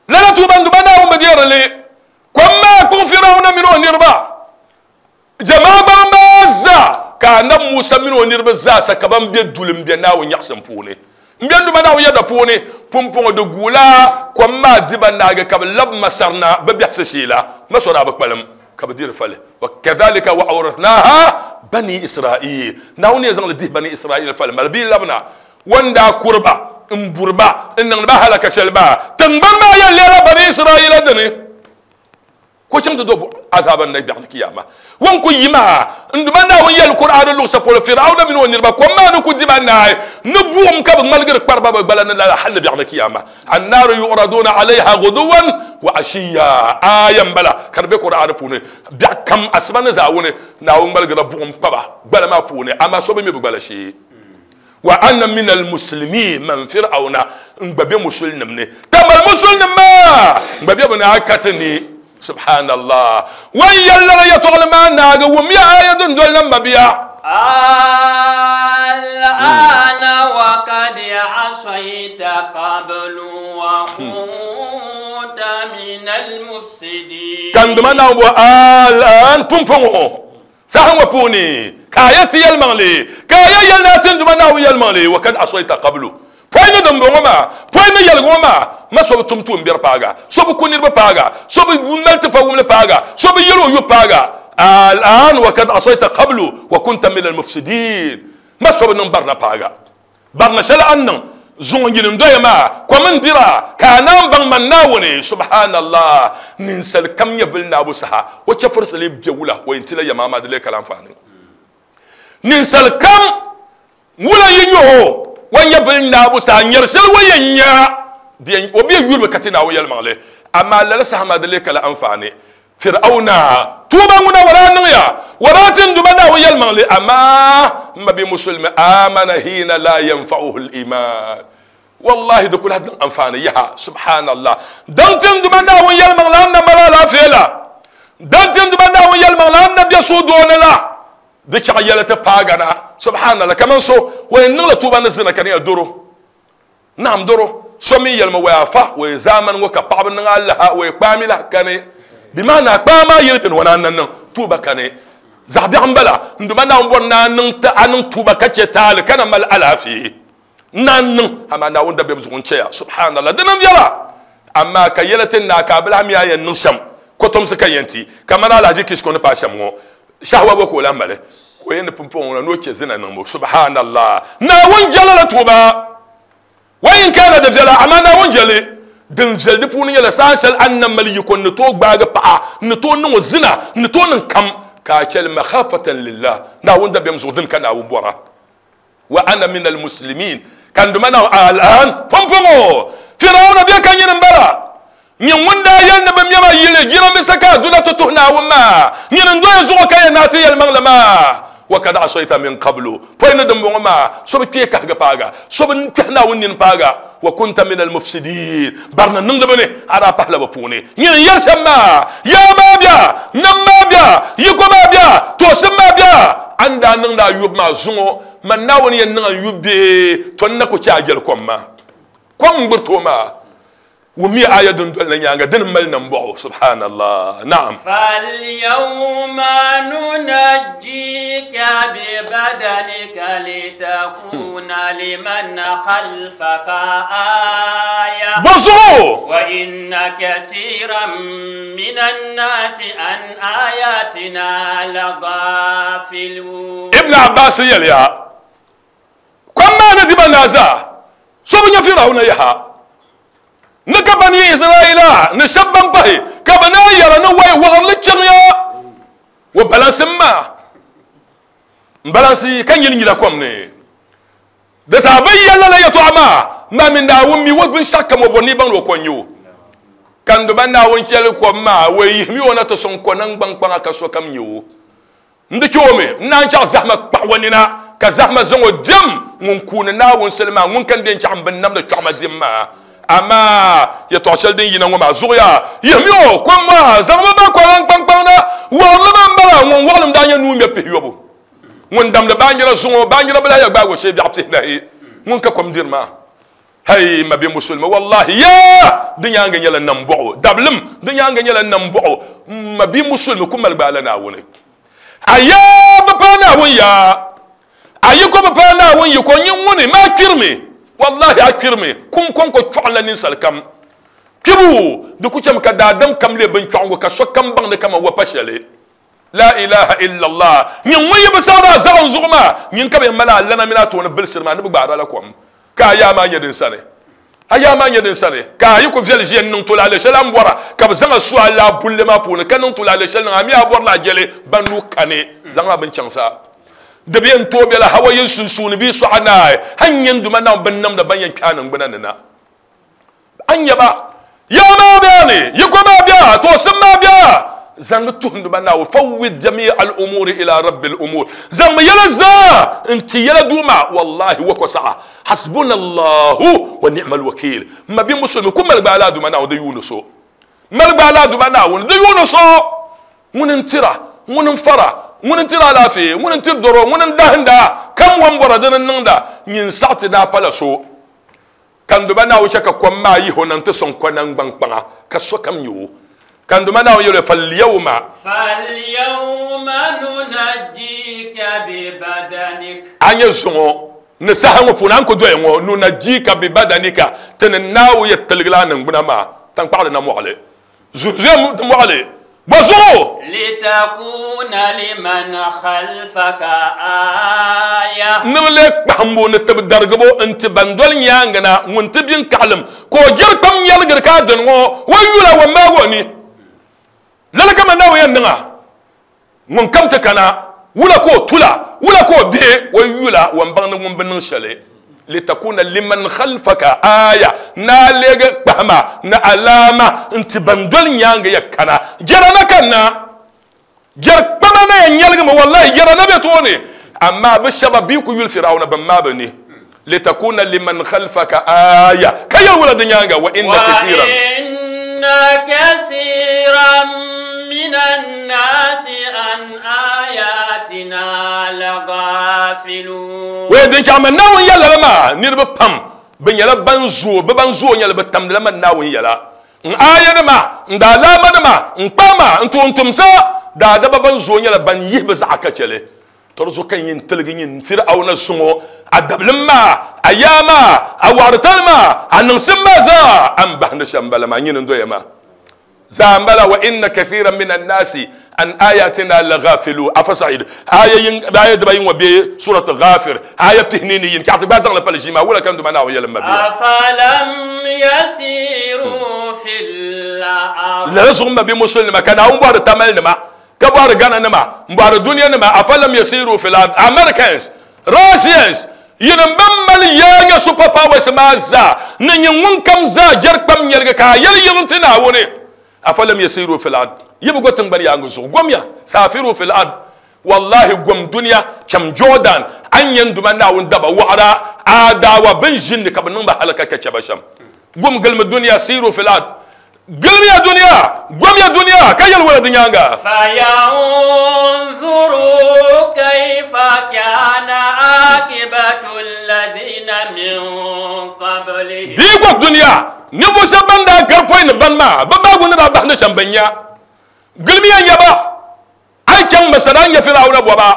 lala tuuba n-duba Naawuni bi deeri li. Kom maa kpuɣi Fir'auna mini o niriba. Jɛmaa gbaŋ maa zaa, ka Anabi Musa mini o niriba zaa sa ka ban be duli m-be Naawuni nyaɣisim puuni. M-be n Duuma Naawuni yɛda puuni. Pumpɔŋɔ di guula kom maa di ba naagi ka bɛ lab Masar na bɛ biɛhisi shee la. Masɔr daa bi kpalim ka bɛ di di fali. Wa kadhalika wa awrathnaha bani Israil. Naawuni yɛn zaŋ li dihi bani Israil fali mali bɛ yi labina. O ni daa kuri ba m-buri ba n-niŋdi ba halaka shɛli maa, tiŋgbani maa yɛn leela bani Israila dini. Ka o chaŋ ti do azaaba ni na biɛɣuni kiyama. O ni ku yi maa, n Duuma Naawuni yɛli Kur'aani luɣ shɛli polo, Fir'auna mini o niriba, kom maa ni ku di ba naai, ni buɣim ka bɛ ŋmaligiri kpari ba bɛ gbala ni lala hal ni biɛɣuni kiyama. Annaaru yu'raduuna alayha ghuduwan wa ashiyya. Aaya m-bala ka di be Kur'aani puuni. Biɛɣu kam, asiba ni zaawuni, Naawuni ŋmaligirila buɣim kpa ba gbala maa puuni, amaa so bi mi bɛ gbala shee. Wa ana min almuslimin, man Fir'auna n gba be musulinim ni, tamal musulinim maa n gba be bɛ ni a ka ti ni. Subhanallah. Wa n yɛli lala yɛtɔɣili maa naagi, wummiya aaya din doli na m mabia. Al-aana wa kad asayta qablu wa kunta min al-mufsidin. Ka n Duuma Naawuni bɔhi, Al-aan, pumpɔŋɔ, Saha ŋɔ puuni ka a yɛn ti yɛlimaŋli, ka a yɛn yɛli ni a ti n Duuma Naawuni yɛlimaŋli, wa kad asɔyta qablu, pɔi ni dimbɔŋɔ maa, pɔi ni yɛligu ŋɔ maa, ma so bi tum tuumbiɛri paag a, so bi ku niriba paag a, so bi mali tipawumli paag a, so bi yɛl o yu paag a, al-aan wa kad asɔyta qablu wa kunta min al-mufsidin, ma so bi niŋ barina paag a. Barina shɛli a ni niŋ zuŋɔ nyini n-doya maa, kom n-dira, ka a naan baŋ man Naawuni. Subhaanallah! Ninsal kam nyɛvili naabu saha, o chɛfurisili be wula, o yɛn tila yɛma, amaa di lee ka la anfaani. Ninsal kam wula yi nya o, o nyɛvili naabu saha, nyari shɛli o yɛn nya, di yɛn, o bi yɛn yurimi ka ti Naawuni yɛlimaŋli, amaa lala saha maa di lee ka la anfaani. Fir'auna tuuba ŋuna o daa niŋya, o daa ti n Duuma Naawuni yɛlimaŋli, amaa m ma bia Musulimi, amana hiina laa yanfa'uhu l-iman, wallahi di ku lahi niŋ anfaani yaha, subhanallah, daŋ ti n Duuma Naawuni yɛlimaŋli a ni na mali alaafee la, daŋ ti n Duuma Naawuni yɛlimaŋli a ni na be suhudoo ni la, di chaɣ yɛli ti paagi na, subhanallah, kaman so o yɛn niŋla tuuba ni zina ka di nyɛla doro. Naam doro, so mi yɛlimi wai afa wai zaamani ŋɔ ka paɣaba niŋ alaha wai kpaami lahi kani bi maana kpaa maa yili bini wana na niŋ tuuba kani zaɣ biɛɣu n bala n duma Naawuni bɔri ni a niŋ a niŋ tuuba ka chɛ taali ka na mali alaafee n naan niŋ amaa Naawuni dabiɛm zuɣu n chɛya subhanallah di niŋ viɛla amaa ka yɛla ti naai ka a bi lahi mi a yɛn niŋ shɛm kotomsi ka yɛn ti kamani alahaji kisko ni paai shɛm ŋɔ Shahwa bɔ ka o lahi mali? Ka o yɛn ni pumpɔŋɔ ŋɔ ni o chɛ zina niŋbu. Subhanallah! Naawuni jɛla la tuuba. Wa in kana di viɛla, amaa Naawuni jɛli. Din viɛli di puuni nyɛla saha shɛli a ni na mali yiko n-ni tooi gbaagi paɣa, n-ni tooi niŋ o zina, n-ni tooi niŋ kam, ka a chɛli makhafatan lillah, Naawuni dabiɛm zuɣu, dini ka Naawuni bɔra. Wa ana min almuslimin, ka n Duuma Naawuni, al-an, pumpɔŋɔ, Firawuna bɛ ka nyini m-bala, nyin ŋun daa yɛli ni bɛ mɛma yili jiranbiisa ka a duna ti tuhi Naawuni maa, nyini n-doya zuɣu ka yɛn naai ti yɛlimaŋli maa. Wa kad asayta min qablu, pɔi ni dimbɔŋɔ maa, so bi kpee kahigi paagi a, so bi kpɛhi Naawuni nini paagi a, wa kunta min almufsidin, barina niŋdiba ni a daa pahila bɛ puuni. Nyini n-yɛli shɛm maa, yaa maa bia, nam maa bia, yiko maa bia, toosim maa bia, A ni daa niŋdi a yubu maa zuŋɔ, man Naawuni yɛn niŋ a n yubu bee? Tɔ n na ku chɛ a jɛli kom maa. Kom n-gbiriti o maa. Wummiya aaya din doli na nyaaŋa, dini m-mali nambɔɣu. Subhanallah. Naam. Falyawma nunajjika bibadanika litakuna liman khalfaka aya. Bɔzuɣu? Wa inna kasiran minan naasi an ayatina lagafilun. Ibn Abbas yɛliya, Kom maa ni di ba naa zaa, so bi nya Firawuna yaha. Ni ka Bani Israila ni shɛba ban pahi ka bɛ naan yɛra ni wai wɔɣirili chaŋya o balansi maa m-balansi ka nyili nyila kom ni. Di saha bɛ yɛli lala yɛtɔɣa maa, Maa mi Naawuni mi o binshɛɣu kam, o bɔri ni yi baŋ ni o ko n-nyɛ o. Ka n Duuma Naawuni chɛli kom maa, o yihimi o na ti sɔŋ konaŋgbaŋ kpaŋa ka sokam nya o. N di chɛ o mi, n naan chaɣ zahima kpaɣ o nina, ka zahima zaŋ o dim ŋun kuuni Naawuni soli maa, ŋun ka n di n-chaɣ m binnamdi chɔɣima dim maa. Amaa yɛtɔɣ shɛli din yina ŋɔ maa zuɣuya, yihimi o kom maa, zaŋmi ba konaŋgbaŋ kpaŋ na, wɔɣirili maa m-bala, ŋun wɔɣilim daa nyɛ nuu ŋmɛbu pihiyɔbu. Ŋun damdi baanjira zuŋɔ, baanjira bi lahi ya gbaagi o shee biɛɣu pihinahi, ŋun ka kom diri maa. Hei, ma bɛ musulimi, wallahi yaa! Di nyaaŋa nyɛla nambɔɣu, dabilim, di nyaaŋa nyɛla nambɔɣu, ma bɛ musulimi ku mali gbaala Naawuni. A yaa bi paai Naawuni yaa, a yiko bi paai Naawuni yiko, nyin ŋuni, maa kpirimi, wallahi a kpirimi, kum kɔŋko chɔɣinla ninsal kam. Kpibu, di ku chɛmi ka daadam kam leei binchɔɣingu ka sokam baŋ ni kaman wa pa shɛli. La ilaha illallah. Nyin ŋun yi bi saɣiri a zaɣim zuɣu maa, nyin ka bɛ yɛn mali a lana mini a tooni bilisiri maa ni bɛ gbaari a la kom, ka a yaa maa nyɛ din sani. A yaa maa nyɛ din sani, ka a yi ku viɛli ʒiya n-niŋ tulaale shɛli a ni bɔra, ka bɛ zaŋ a su a laa bulli maa puuni, ka niŋ tulaale shɛli niŋ a mi a bɔrila a jɛli ban nuu kani, zaŋ a bini chaŋ sa. Di bi yɛn tooi bela hawa yin sunsuuni bee sɔɣa naai, hal n-nyɛ n Duuma Naawuni binnamda ban yɛn kpe a niŋgbuna ni na. A ni nya ba, yaa maa be a ni, yiko maa be a, toosim maa be a. Zaŋmi tuhi n Duuma Naawuni, fawwid jami'a al-umuri ila rabbil umur, zaŋmi yɛla zaa n-ti yɛla Duuma, wallahi wa ko saɣa. Hasbunallahu wa ni'mal wakil. M ma bia musulimi ku mali gbaai la Duuma Naawuni di yuuni so. Mali gbaai la Duuma Naawuni di yuuni so. Ŋuni n-tira, ŋuni n-fara, ŋuni n-tiri alaafee, ŋuni n-tiri dɔro, ŋuni n-dahinda, kam wan bɔra dini n-niŋda, nyin saɣi ti daa pala so. Ka n Duuma Naawuni chɛ ka kom maa yihi o na nti sɔŋ konaŋgbaŋ kpaŋa ka sokam nya o. Ka n Duuma Naawuni yɛli o, Falyawma. Falyawma nunajjika bibadanik. A nya zuŋɔ ni saha ŋɔ puuni a ni ku doya ŋɔ, nunajjika bibadanika, ti ni Naawuni yɛ tiligila a niŋgbuna maa taŋkpaɣu di na mɔɣili, zuɣuzuya di mɔɣili, bɔ zuɣu? Litakuna liman khalfaka aaya. Ni bɛ leei kpahimbu ni tibidarigibo n-ti ban doli nyaaŋa na ŋun ti bin kaɣilim, ka o jiri kpam nyɛligiri ka a dini ŋɔ o yula o maag o ni. Lala ka man Naawuni yɛn niŋ a. Ŋun kam ti kana, wula ka o tula, wula ka o bihi, o yula o ni baŋ ni ŋun bi niŋ shɛli. Litakuna liman khalfaka aaya, ni a leegi kpahima ni alaama n-ti ban doli nyaaŋa ya kana. Jɛra na kanna, jɛri kpama na yɛn nyɛligimi, wallahi jɛra na be tooni, amaa bɛ shɛba bɛ yi ku yuli Firawuna bɛn maai bɛ ni. Litakuna liman khalfaka aaya, ka yɛli wula di nyaaŋa, wa inna kathiran. Wa inna kathiran minan naasi an ayatina laghafilun. Wee din chaŋ man Naawuni yɛla la maa, niriba pam bɛ nyɛla ban zooi, bɛ ban zooi nyɛla bɛ tamdila man Naawuni yɛla. N aayanima, n daalaamanima, n kpaŋma, n tuuntumsa, daadaba ban zooi nyɛla ban yihi bɛ zaɣa ka chɛ li. Tɔri zuɣu ka n yɛn tiligi nyin Firawuna zuŋɔ, a dabilim maa, a yaa maa, a wɔɣiritali maa, a niŋsim maa zaa, a ni bahindi shɛm m-bala maa, nyini n-doya maa zaa m-bala. Wa inna kathiran mina nnaasi an ayatina laghafilu. Afa Sa'id, aya yin, aya dibayi ŋɔ be Surat Ghafir, aya pihinii ni yini. Chɛɣu ti gbaai zaŋli pali ʒii maa, wula ka n Duuma Naawuni yɛli m mabia? Afalam yasiru fil ard. Lala zuɣu m mabia Musulinima, ka Naawuni bɔhiri Tamalinima, Ka bɔhiri Ghana nima, m-bɔhiri dunia nima, afalam yasiru fil ard, Americans, Russians, yinim ban mali yaa nyɛ super powers maa zaa, ni nyin ŋun kam zaa jɛri kpam nyɛligi ka a yɛli yiŋ ti Naawuni, afalam yasiru fil ard, yi bi go tiŋgbani yaaŋa zuɣu, gomya, safiru fil ard, wallahi gom dunia, cham Jordan, a ni nyɛ n Duuma Naawuni daba wɔɣira, aadaawa bɛn ʒini ni ka bɛ niŋ ba halaka ka chɛ ba shɛm. Gom gilimi dunia, siru fil ard, Gilimiya dunia, gomiya dunia, ka yɛli wala di nyaaŋa. Fayanzuru kaifa kana akibatu allazina min qablihim. Di yi gɔg dunia, ninvuɣ shɛb ban daa gari pɔi ni ban maa, bɛ baagu ni daa bahi ni shɛm bɛn nya. Gilimiya nya ba. A yi chaŋ Masar a ni nya Firawuna bɔba,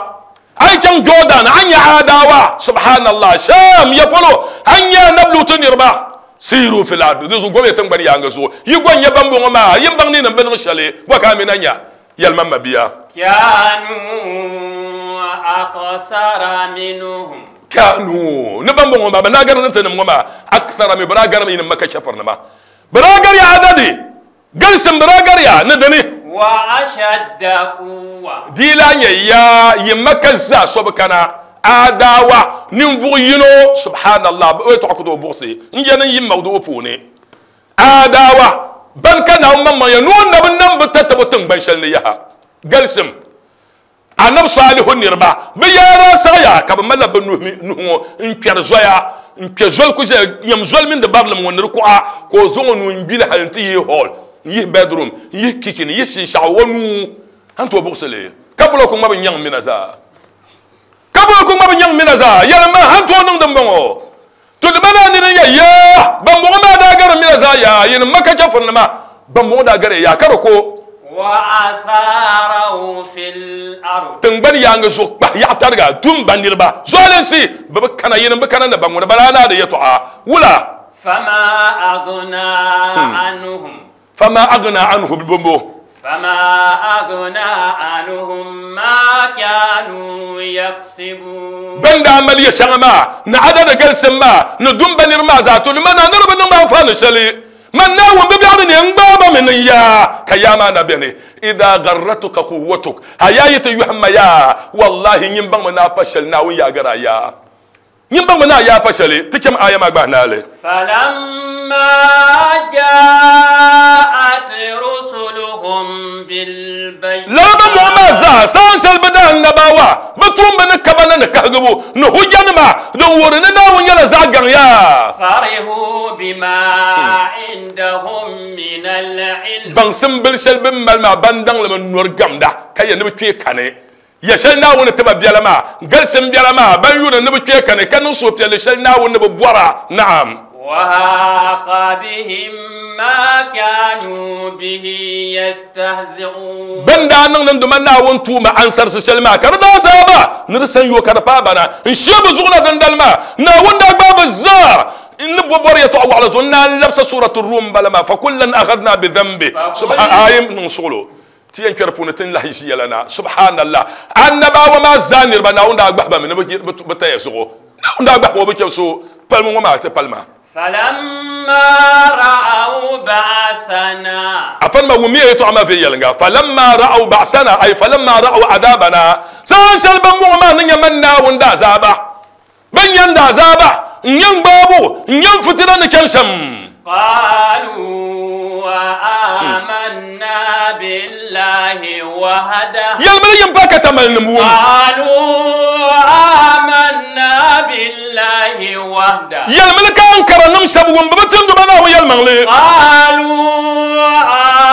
a yi chaŋ Jɔɔdan a ni nya Aadawa, Subhanallah, Sham ya polo a ni nya Anabi Lutu niriba. Siiru fil ard, di zuɣu gomiya tiŋgbani yaaŋa zuɣu. Yi gɔ n-nya bambɔŋɔ maa, yi ni baŋ ni yinim bi niŋ shɛli, bɔ ka a mi na nya? Yɛlima m mabia. Kanu akthara minhum. Kanu, ni bambɔŋɔ maa, bɛ daa gari tinim ŋɔ maa, akthara min, bɛ daa garimi yinim Maka chɛfurinima. Bɛ daa gariya adadi. Galisim bi daa gariya ni dini. Wa ashadda quwwa. Di lahi nyɛ yaa yi Maka zaa so bi kana Adawa ninvuɣ yino, subhanallah, o yɛtɔɣa ku tooi buɣisi n yɛli n yi mawdu'u puuni. Adawa ban ka Naawuni maŋmaŋ ya ni o na bi nam bɛ tatabo tiŋgban shɛli ni yaha. Galisim Anabi Salihu niriba, bɛ yaa daa saɣiya ka bɛ malila bɛ nuhi ŋɔ n-kpɛri zoya, n-kpe zoli ku ʒeya, nyam zoli mini di barilim ŋɔ ni di kuɣa, ka o zaŋ o nuu n-gbili hali nti yihi hall, n-yihi bedroom, n-yihi kitchen, n-yihi shinshɛɣu o nuu a ni tooi buɣisi li, ka bulɔku ŋma bi nyaŋ mina zaa. Ka bulɔku ŋma bi nyaŋ mina zaa. Yɛlim ma, a ni tooi niŋ dimbɔŋɔ? To di mana nini ya yaa, bambɔŋɔ maa daa gari mina zaa yaa, yinim Maka chɛfurinima, bambɔŋɔ daa gari ya yaa ka di ko. Wa fil ard. Tiŋgbani yaaŋa zuɣu kpahi yaɣa tariga, dum ba niriba, zualinsi, bɛ bi kana, yinim bi kana ni ba ŋuni bala naa di yɛtɔɣa, wula? Fama aghna anhum. Fama aghna anhum bimbo. فما أغنى عنهم ما كانوا يكسبون. Ban daa mali ya shɛŋa maa ni adada galisim maa ni dumba niri maa zaa to nima na niriba niŋ anfaani shɛli man Naawuni bibiɛɣu ni n gbaaba mi niŋ yaa ka yaa maa na beni idha gharratuka quwwatuk a yaa yi ti yɔhimma yaa wallahi nyin baŋmi ni a pa shɛli Naawuni yaa gari a yaa nyin baŋmi ni a yaa pa shɛli ti cham aya maa gbahi naali. فلما جاءت رسلهم بالبينات Lala ban bɔŋɔ maa zaa saan shɛli bi daa annabawa bi tuumbi ni kaba ni ni kahigibu ni hujjanima din wuhiri ni Naawuni nyɛla zaɣ gaŋ yaa. فرحوا بما عندهم من العلم. Baŋsim bili shɛli bin mali maa ban daŋlimi nɔri gamda ka yɛ ni bi kpee kani ya shɛli Naawuni tiba biɛla maa galisim biɛla maa ban yuri ni bi kpee kani ka niŋ suhupiɛlli shɛli Naawuni ni bi bɔra naam. وحاق بهم ما كانوا به يستهزئون. Ban daa niŋ niŋ duma Naawuni tuuma ansarisi shɛli maa ka di daa zaaba ni di san yo ka di paai bana n shee bi zuɣu na dindali maa Naawuni daa gbaai bi zaa n ni bo bɔri yɛltɔɣa waɣala zuɣu n naan labisa suratu Rum bala maa fa kullan akhadna bi dhanbi subhan ayim niŋ suɣulo ti yɛn kpɛri puuni ti n lahi ʒi yɛla na subhanallah annabawa maa zaa niriba Naawuni daa gbahi ba mi ni bi taya zuɣu Naawuni daa gbahi ba o bi chɛ so palimi ŋɔ maa ti palima. فلما رأوا بأسنا Afan ma wumi yɛltɔɣa maa viɛnyɛlinga falamma ra'aw ba'sana ay falamma ra'aw adabana saan shɛli ban bɔŋɔ maa ni nyɛ man Naawuni daa zaaba ban yɛn daa zaaba n yɛn gbaabu n yɛn fitina ni chɛni shɛm. قالوا آمنا بالله وحده. Yɛlimi yɛn pa ka tamali nim wum. قالوا آمنا بالله وحده. Yɛlimi ka n kara nim shɛba wum bi bi timdi ba Naawuni yɛlimaŋli. قالوا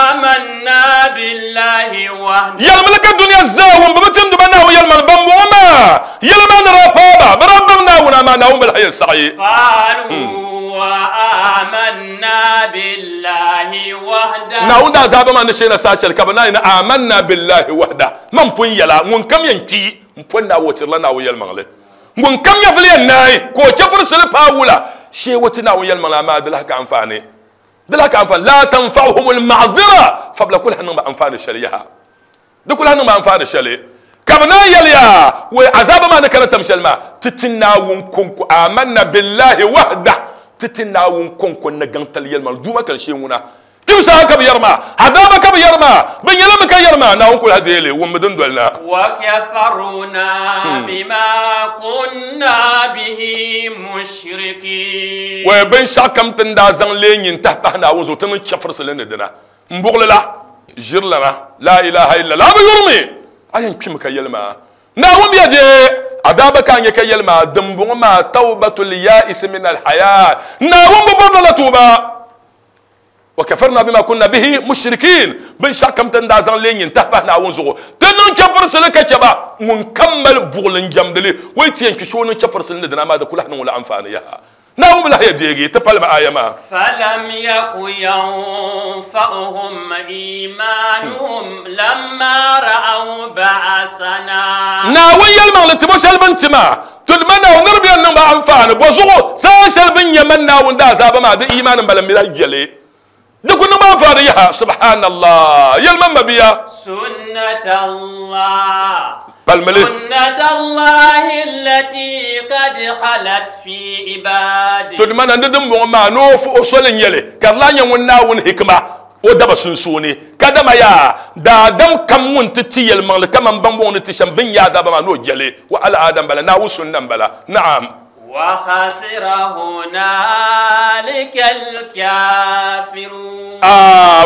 آمنا بالله وحده. Yɛlimi ka duniya zaa wum bi bi timdi ba Naawuni yɛlimaŋli ban bɔŋɔ maa yɛli maa ni daa paaba bi daa baŋ Naawuni amaa Naawuni bi lahi yɛn saɣi. قالوا آمنا بالله وحده. Naawuni daa zaaba maa ni sheena saa shɛli ka bi naan amanna billahi wahda man pun yɛla ŋun kam yɛn kpi n pon naa wotirila Naawuni yɛlimaŋli ŋun kam nyɛvili yɛn naai ka o chɛfurisili paai wula shee wo ti Naawuni yɛlimaŋli amaa di lahi ka anfaani di lahi ka anfaani la tanfa'uhum alma'dhira fabla kul niŋ ba anfaani shɛli yaha di kul niŋ ba anfaani shɛli ka bi naan yɛliya wai azaba maa ni kana tam shɛli maa ti ti Naawuni konko amanna billahi wahda ti ti Naawuni konko ni gaŋtali yɛlimaŋli duuma kali shee ŋuna timsa ka bi yɛri maa adaba ka bi yɛri maa bi nyɛla mi ka yɛri maa Naawuni kuli ha deeli wummi din doli na. وكفرنا بما كنا به مشركين. Wai binshaɣu kam ti n daa zaŋ lee nyin tahi pahi Naawuni zuɣu ti niŋ chɛfurisili ni dina n buɣuli la ʒiri lana la ilaha illallah a bi yurimi a yɛn kpimi ka yɛli maa Naawuni biya dee adaba ka nyɛ ka yɛli maa dimbɔŋɔ maa tawbatul ya'is min alhayat Naawuni bi bɔri la tuuba وكفرنا بما كنا به مشركين بنشاء كم تندا زان لين ينتهى ناون زغو تنن كفر سلك كبا ونكمل بغلن جمدلي ويتين كشون كفر سلنا دنا ما ده كلها نقول أنفاني يها ناوم لا يديجي تبال ما آية ما. فلم يك ينفعهم إيمانهم لما رأوا بأسنا. ناوي يلمع لتبوش البنتما تلمنا ونربي أنهم أنفان بوزغو ساشل بن يمن ناون دا زابا ما ده إيمان بلم يجلي دكون ما فاريها سبحان الله يلمن بيا. سنة الله بالملي سنة الله التي قد خلت في عباده. تدمنا ندم ما نوف أصل يلي كرلان يونا ون حكمة ودب سنسوني كدما يا دا دم كم ون تتي المال كم بمبون تشم بن يا دب ما نو جلي وعلى آدم بلا ناو سنة بلا نعم. وخسر هنالك الكافرون.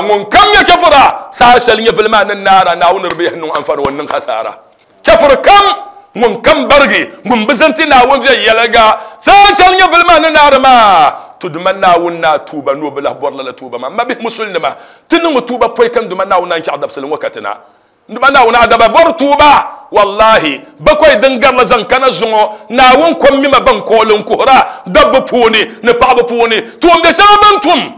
من كم يكفر ساشل يفل ما النار ناون ربيه نو أنفر ونن خسارة كفر كم من كم برغي من بزنتي ناون زي يلقى ساشل يفل ما النار ما تدمنا ونا توبة نو بله بورلا لا توبة ما به مسلم ما تنم توبة بوي كم دمنا ونا إن شاء الله بسلم وقتنا دمنا ونا عذاب بور توبة والله بكوي دنگر لزن كان زونو ناون كم مما بن كولن كهرا دب بوني نبعب بوني توم دسما بنتم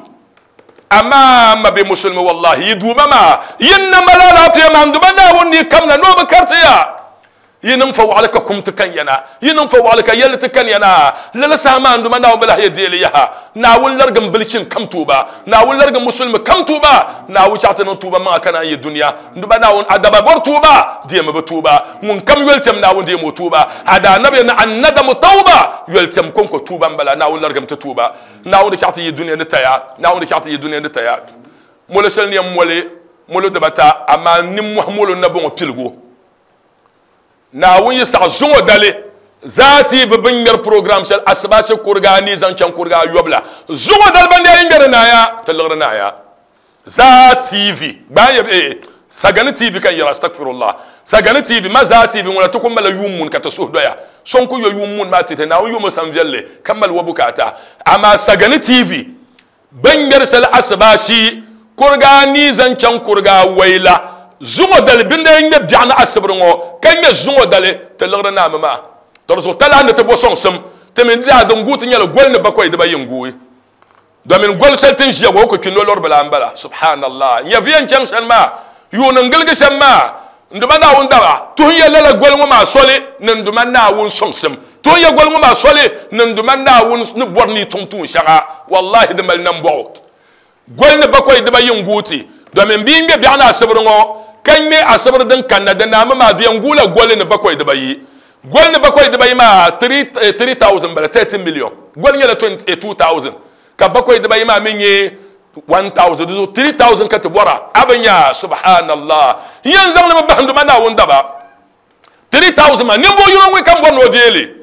أمام بمسلم والله يدوم ما ينما لا لا في ما عندما ناون كم نوب كرتيا Yi niŋ fa waɣali ka kum ti kan ya na, yi niŋ fa waɣali ka yɛlli ti kan ya na. Lala saha maa n Duuma Naawuni bi lahi yɛ deeli yaha. Naawuni larigim bilichin kam tuuba. Naawuni larigim musulimi kam tuuba. Naawuni chaɣ ti niŋ tuuba maŋa ka naan yi dunia. N Duuma Naawuni, a daba bɔri tuuba, deemi bɛ tuuba. Ŋun kam yoli tɛm Naawuni deemi o tuuba. A daanabi yɛli ni, An-nadamu tawba, yoli tɛm kɔŋko tuuba m-bala. Naawuni larigim ti tuuba. Naawuni di chaɣ ti yi dunia ni taya. Naawuni di chaɣ ti yi dunia ni taya. Molo shɛli ni yɛn moli molo dibata, amaa nimmohi molo n-na bɔŋɔ piligu. Naawuni yi saɣi zuŋɔ dali zaa ti bi bin ŋmɛri program shɛli asibaasi kuriga anii zaŋ chaŋ kuriga ayɔbu la. Zuŋɔ dali ban daa yi ŋmɛri naaya ti liɣiri naaya zaa TV gbaai ya eh Sagani TV ka n yɛra astagfirullah Sagani TV ma zaa TV ŋuna ti ku malila yuun muni ka ti suhu doya so n ku yo yuun muni maa ti ti Naawuni yomi sam viɛlli ka mali wa bukaata amaa Sagani TV Bɛ ni ŋmɛri shɛli asibaasi kuriga anii zaŋ chaŋ kuriga awɛi la, zuŋɔ dali bɛ ni daa yi ŋmɛ biɛɣuni asibiri ŋɔ, ka ŋmɛ zuŋɔ dali ti liɣiri naami maa. Tɔ di zuɣu talahi ni ti bo sɔŋsim. Ti mi daa din guui ti nyɛla goli ni bakɔi dibayi n-guui. Domin goli shɛli ti ni ʒiya ŋɔ, o ku kpi nolori bila m-bala. Subhanallah! Nyɛviya n-chaŋ sani maa, yuuni n-giligi shɛm maa, N Duuma Naawuni daba, tuhi ya lala goli ŋɔ maa soli ni n Duuma Naawuni sɔŋsim. Tuhi ya goli ŋɔ maa soli ni n Duuma Naawuni ni bɔri ni yi tum tuun shɛŋa. Wallahi di mali nambɔɣu. Goli ni bakɔi dibayi n-guui ti, domin bɛ yi ŋme biɛɣuni asibiri ŋɔ, ka ŋme asibiri din kanna di naami maa, di yɛn guui la goli ni bakɔi dibayi. Goli ni bakɔi dibayi maa, 3,000 m-bala, 30 million. Goli nyɛla 22,000. Ka bakɔi dibayi maa mi nyɛ 1000, di zuɣu 3000 ka ti bɔra. A bi nya? Subhanallah! N yɛn zaŋ li mi bahi n Duuma Naawuni daba. 3000 maa, ninvuɣ yino ŋun kam bɔri ni o deei li.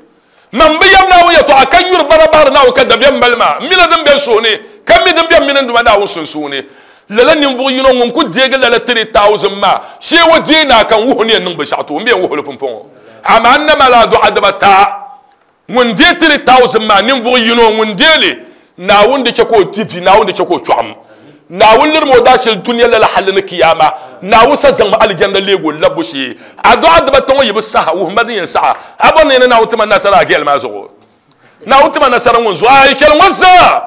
Man bi yɛm Naawuni yɛtɔɣa, ka nyuri bara bahiri Naawuni, ka dabiɛm mali ma. M mila din be n suhu ni, ka mi din be m mini n Duuma Naawuni sunsuuni. Lala ninvuɣ yino ŋun ku deegi lala 3000 maa, shee o deei ni a ka n wuhi o ni yɛn niŋ binshɛɣu ti o, m bi yɛn wuhi o li pumpɔŋɔ. Amaa n na mali a dɔɣa dibata. Ŋun deei 3000 maa ninvuɣ yino ŋun deei li, Naawuni di chɛ ka o di vi, Naawuni di chɛ ka o chɔɣim. Naawuni lirimi o daashili dunia lala halli ni kiyaama. Naawuni sa zaŋmi alijanna leeg o labbu shee. A dɔɣa dibata ŋɔ yi bi saha, wuhim ma din yɛn saɣ a. A bɔri ni yɛn ni Naawuni ti ma nasara a gɛli maa zuɣu? Naawuni ti ma nasara ŋun zuɣu a yi chɛli ŋɔ zaa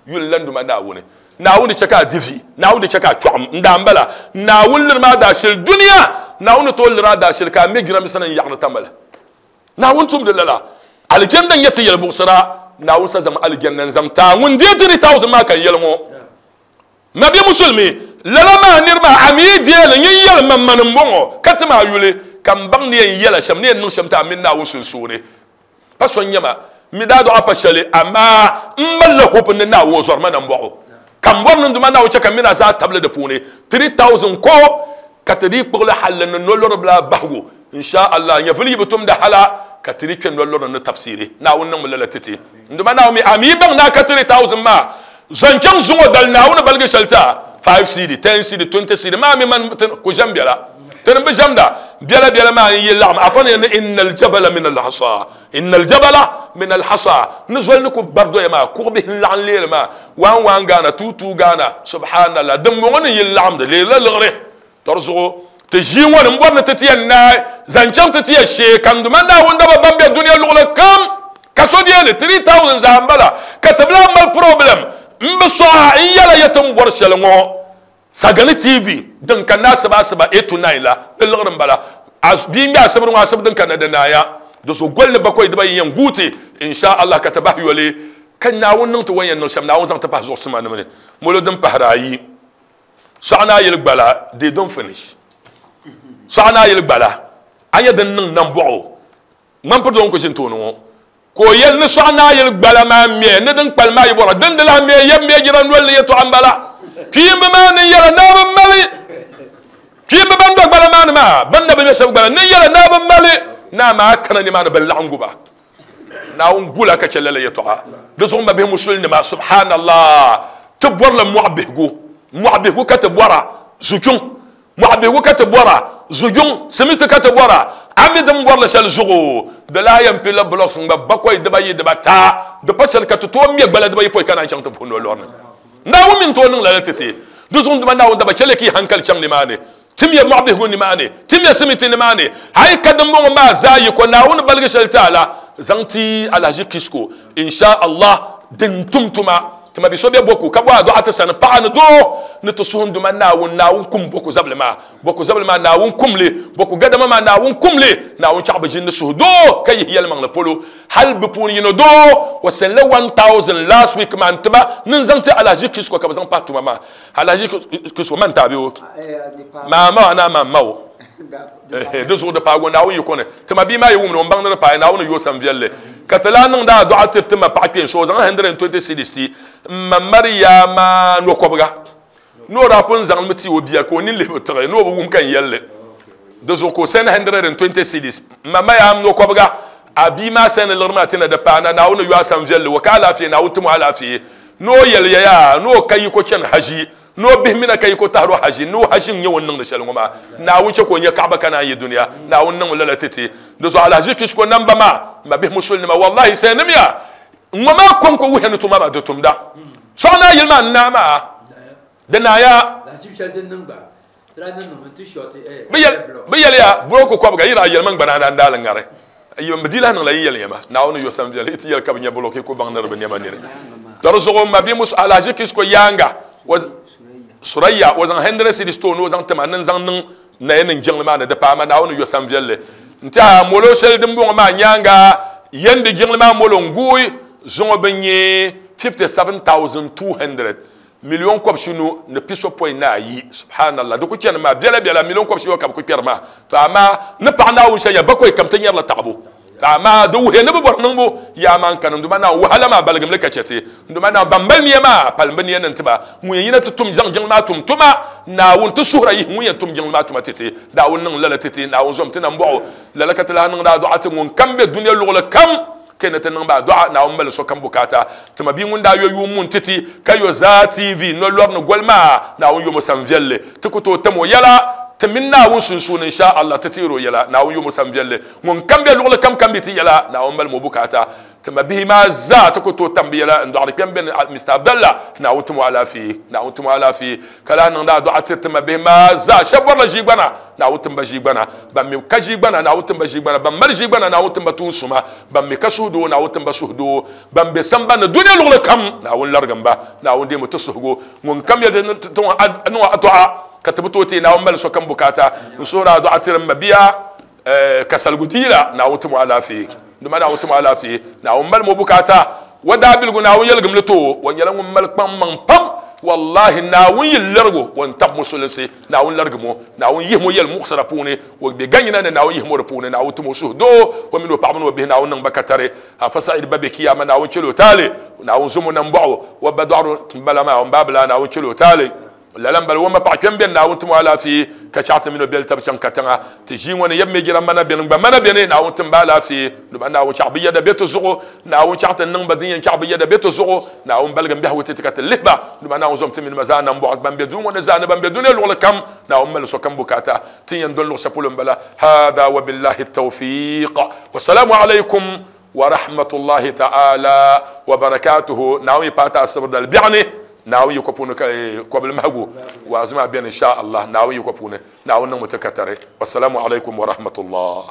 yuli la n Duuma Naawuni. Naawuni di chɛ ka a di vi, Naawuni di chɛ ka a chɔɣim. N daa m-bala, Naawuni lirimi a daashili dunia. Naawuni ni tooi lir a daashili ka a me jirambisa ni n-yaɣiri tamali. Naawuni tumdi lala. Alijanna n-nyɛ ti yɛlimuɣisira. Naawuni sa zaŋmi alijanna n-zaŋ ti a ŋun deei 3000 maa ka n yɛli ŋɔ. Mabia Musulimi, lala maa niri maa a mi yi deei li, nyin yɛli ma mani m-bɔŋɔ ka ti ma a yuli ka m baŋ ni yɛn yɛla shɛm, ni yɛn niŋ shɛm ti a mini Naawuni sunsuuni. Pa so n-nyɛ ma, m mi daa dɔɣi a pa shɛli, amaa m malila hope ni Naawuni o zɔri ma nambɔɣu ka m bɔri ni n Duuma Naawuni chɛ ka m mini a zaa tabili di puuni 3000 ko ka ti dii kpuɣili halli ni nolɔri bila bahigu, in sha Allah, nyɛvili yi bi tumdi hala ka ti di kpe nolɔri ni tafsiiri. Naawuni niŋmi lala ti ti. N Duuma Naawuni mi, a mi baŋ ni a ka 3000 maa zaŋ chaŋ zuŋɔ dali Naawuni baligi shɛli ti a, 5 cedi, 10 cedi, 20 cedi maa mi man ti ku ʒɛm biɛla. Ti ni bi ʒɛmda biɛla biɛla maa n-yi laɣim afa ni yɛli ni innal jabala min al-hasa, innal jabala min al-hasa, ni zoli ni ku bari doya maa, kuɣ bihi n-laɣim leeli maa, waan waan Ghana, tuu tuu Ghana, subhanallah, dimbɔŋɔ ni yi laɣim di leerila liɣiri. Tɔ di zuɣu ti ʒii ŋɔ ni m-bɔri ni ti ti yɛn naai zaŋ chaŋ ti ti ya shee ka n Duuma Naawuni daba ban be dunia luɣili kam ka so deei li 3000 zaa m-bala ka ti bi lahi mali problem m bi sɔɣi a n yɛla ya ti ni bɔri shɛli ŋɔ Sagani TV din kanna asiba asiba 8 to 9 la di liɣiri m-bala. Bia ŋmɛ asibiri ŋɔ asibi din kanna di naaya di zuɣu goli ni bakɔi dibayi yɛn guui ti insha Allah ka ti bahi yoli ka Naawuni niŋ ti o ni yɛn niŋ shɛm Naawuni zaŋ ti pahi zuɣusimanima ni molo din pahiri ayi. Sɔɣu ni a yili gbala they don't finish. Sɔɣu ni a yili gbala a nya din niŋ nambɔɣu ŋmanpiri doo n-ku ʒini tooni ŋɔ ka o yɛli ni sɔɣu ni a yili gbala maa mɛ ni din kpalim maa yi bɔra din di lahi mɛ yɛm mɛ jira noli ni yɛtɔɣa m-bala kpiimba maa ni yɛla naa bi mali kpiimba ban do gbala maa ni maa ban na bi mɛ shɛba gbala ni yɛla naa bi mali naa maa kana nimaani bɛ laɣingu ba Naawuni gula ka chɛ lala yɛtɔɣa. Di zuɣu mabihi musulinima, subhanallah, ti bɔrila mɔɣu bihigu, mɔɣu bihigu ka ti bɔra, zujuŋ, mɔɣu bihigu ka ti bɔra, zujuŋ, simiti ka ti bɔra. A mi din bɔrili shɛli zuɣu, di lahi yɛn pilila blocks ŋma bakɔi dibayi dibata, di pa shɛli ka ti tooi ŋme gbala dibayi pɔi ka naan chaŋ ti vuhi nolɔri ni. Naawuni mi n-tooi niŋ lala ti ti. Di zuɣu n Duuma Naawuni daba chɛli ka yi hankali chaŋ nimaani. Timiya mɔɣu bihigu nimaani, timiya simiti nimaani, hali ka dimbɔŋɔ maa zaa yi ko Naawuni baligi shɛli ti a la, zaŋ ti Alhaji Kisko, insha Allah, din tum tuma. Ti ma bi so be Boku ka bɔhi a dɔɣa ti sani paɣa ni doo ni ti suhi n Duuma Naawuni, Naawuni kum Boku zabili maa, Boku zabili maa Naawuni kum li, Boku gadama maa Naawuni kum li, Naawuni chaɣ bi ʒini ni suhudoo ka yihi yɛlimaŋli polo. Hal bɛ puuni yino doo o send la 1000 last week maa n-ti ba ni n zaŋ ti Alhaji Kisko ka bɛ zaŋ pahi tuma maa. Alhaji Kisko man ti a bɛ o? Maa ma a naa maa m ma o. Ehe, di zuɣu di paagi o Naawuni yiko ni. Ti ma bia maa yi wum ni o m-baŋ ni di paai Naawuni yo sanviɛlli. Ka ti lahi niŋdi a dɔɣa tiri ti ma paɣa kpeen so o zaŋ 120 cedis ti m ma Mariama nɔkɔbiga ni o daa pun zaŋ li mi ti o bia ka o nini lihi bi tiɣi ni o bi wum ka n yɛli li. Di zuɣu ka o send 120 cedis. M ma Mariam nɔkɔbiga, a bia maa send liɣiri maa ti na di paai na Naawuni yo a sanviɛlli o ka alaafee Naawuni tim o alaafee ni o yɛli ya yaa ni o ka yiko chani haji Ni o bihi mina ka yiko tahiri o haʒi, ni o haʒi n-nyɛ o ni niŋdi shɛli ŋɔ maa. Naawuni chɛ ka o nya kaɣaba ka naan yi dunia. Naawuni niŋmi lala ti ti. Di zuɣu alahizichi shiko namba maa, m mabihi musulinima, wallahi sayanimiya ŋɔ maa kɔŋko wuhiya ni tuma maa di tumda. Sɔɣ naa yili maa n-naai maa, di naaya. Bɛ yɛliya, Buroku kɔbiga yi daa yɛli ma n-gba naa n-daa li ŋari. Bɛ dii lahi niŋla yi yɛli ya ma, Naawuni yo sanviɛli, yi ti yɛli ka bɛ nya buroku yi ku baŋ ni di bi nɛma nini. Tɔ di zuɣu m mabia Musa Alhaji Kisko yaaŋa, Suraya, o zaŋ hundred cedis ti o ni o zaŋ ti ma ni n zaŋ niŋ naya niŋ jiŋli maa ni di paai ma Naawuni yo sanviɛlli. N-tɛha molo shɛli din bɔŋɔ maa nyaaŋa, yɛndi jiŋli maa molo n-guui zuŋɔ bɛ nyɛ 57,200. Million kɔbishinu ni pisopɔin ni ayi. Subhanallah, di ku chani maa biɛla biɛla million kɔbishiyɔbu ka bɛ ku kpɛri maa. To amaa ni paɣa Naawuni shɛli nya bakɔi kam ti nyarila taɣibu. To amaa di wuhiya ni bɛ bɔri niŋbu yaa maa n-kani n Duuma Naawuni wahala maa baligimli ka chɛ ti. N Duuma Naawuni ban mali nia maa palim bɛ nia ni n-ti ba. Ŋun yɛn yina ti tum zaŋ jiŋli maa tum tuma, Naawuni ti suhira yihi ŋun yɛn tum jiŋli maa tuma ti ti. Naawuni niŋ lala ti ti. Naawuni zom ti nambɔɣu. Lala ka ti lahi niŋdi a dɔɣa ti ŋun kam be dunia luɣili kam. Ka ni ti niŋ ba adɔɣa, Naawuni mali sokam bukaata. Ti ma bia ŋun daa yo yuun mun ti ti, ka yo zaa TV nolɔri ni goli maa, Naawuni yom o sanviɛlli. Ti ku tooi tam o yɛla, ti mini Naawuni sunsuuni in sha Allah ti teeri o yɛla. Naawuni yom o sanviɛlli. Ŋun kam be luɣili kam kam bi ti yɛla, Naawuni mali mo bukaata. Ti ma bihi maa zaa ti ku tooi tam bɛ yɛla n-dɔɣiri kpɛm bɛ ni Mister Abdallah, Naawuni tim o alaafee. Naawuni tim o alaafee. Ka lahi niŋdi adɔɣa tiri ti ma bihi maa zaa. Shɛba bɔrila ʒiigbana, Naawuni tim ba ʒiigbana. Ban mi ka ʒiigbana, Naawuni tim ba ʒiigbana. Ban mali ʒiigbana, Naawuni tim ba tuun suma. Ban mi ka suhudoo, Naawuni tim ba suhudoo. Ban be sambani ni dunia luɣili kam, Naawuni larigim ba. Naawuni deemi ti suhigu. Ŋun kam yɛli ti ni niŋ o adɔɣa ka ti bi tooi teei, Naawuni mali sokam bukaata. N suhiri adɔɣa tiri m mabia Kasaligu Diila, Naawuni tim o alaafee. Dama Naawuni tim o alaafee. Naawuni mali mo bukaata. O daabiligu Naawuni yɛligim li ti o. O nyɛla ŋun mali kpaŋmaŋ pam. Wallahi Naawuni yi lerigi o, o ni tabi musulinsi. Naawuni larigim o. Naawuni yihim o yɛlimuɣisira puuni. O be ganyina ni Naawuni yihim o di puuni. Naawuni tim o suhudoo. O mini o paɣaba ni o bihi Naawuni niŋ ba katari. Afa Said ba be kiyama Naawuni chɛl o taali. Naawuni zom o nambɔɣu. O ba dɔɣiro m-bala maa, o m baabila Naawuni chɛl o taali. Lala m-bala, o ma paɣa kpɛm beni, Naawuni tim o alaafee, ka chaɣ ti mini o beli tab chaŋ katiŋa. Ti ʒii ŋɔ ni yɛm mi jira mana beni, n gba mana beni, Naawuni tim ba alaafee. Dama Naawuni chaɣ bi yɛda be ti zuɣu, Naawuni chaɣ ti niŋ ba din yɛn chaɣ bi yɛda be ti zuɣu. Naawuni baligim biɛhigu ti ti ka ti lihi ba. Dama Naawuni zom ti mini ba zaa nambɔɣu, ban be duu ŋɔ ni zaa ni ban be dunia luɣili kam. Naawuni mali sokam bukaata. Ti ni yɛn doli luɣ shɛli polo m-bala. Hada wa billahi tawfiq. Wassalamu alaikum wa rahmatullahi ta'ala wa barakatuhu. Naawuni yi paai ti asibiri dali biɛɣuni. Naawuni yiko puuni ka kɔbili mahigu waazu maa beni insha Allah Naawuni yiko puuni. Naawuni niŋmi ti katari. Wassalamu alaikum wa rahmatullah.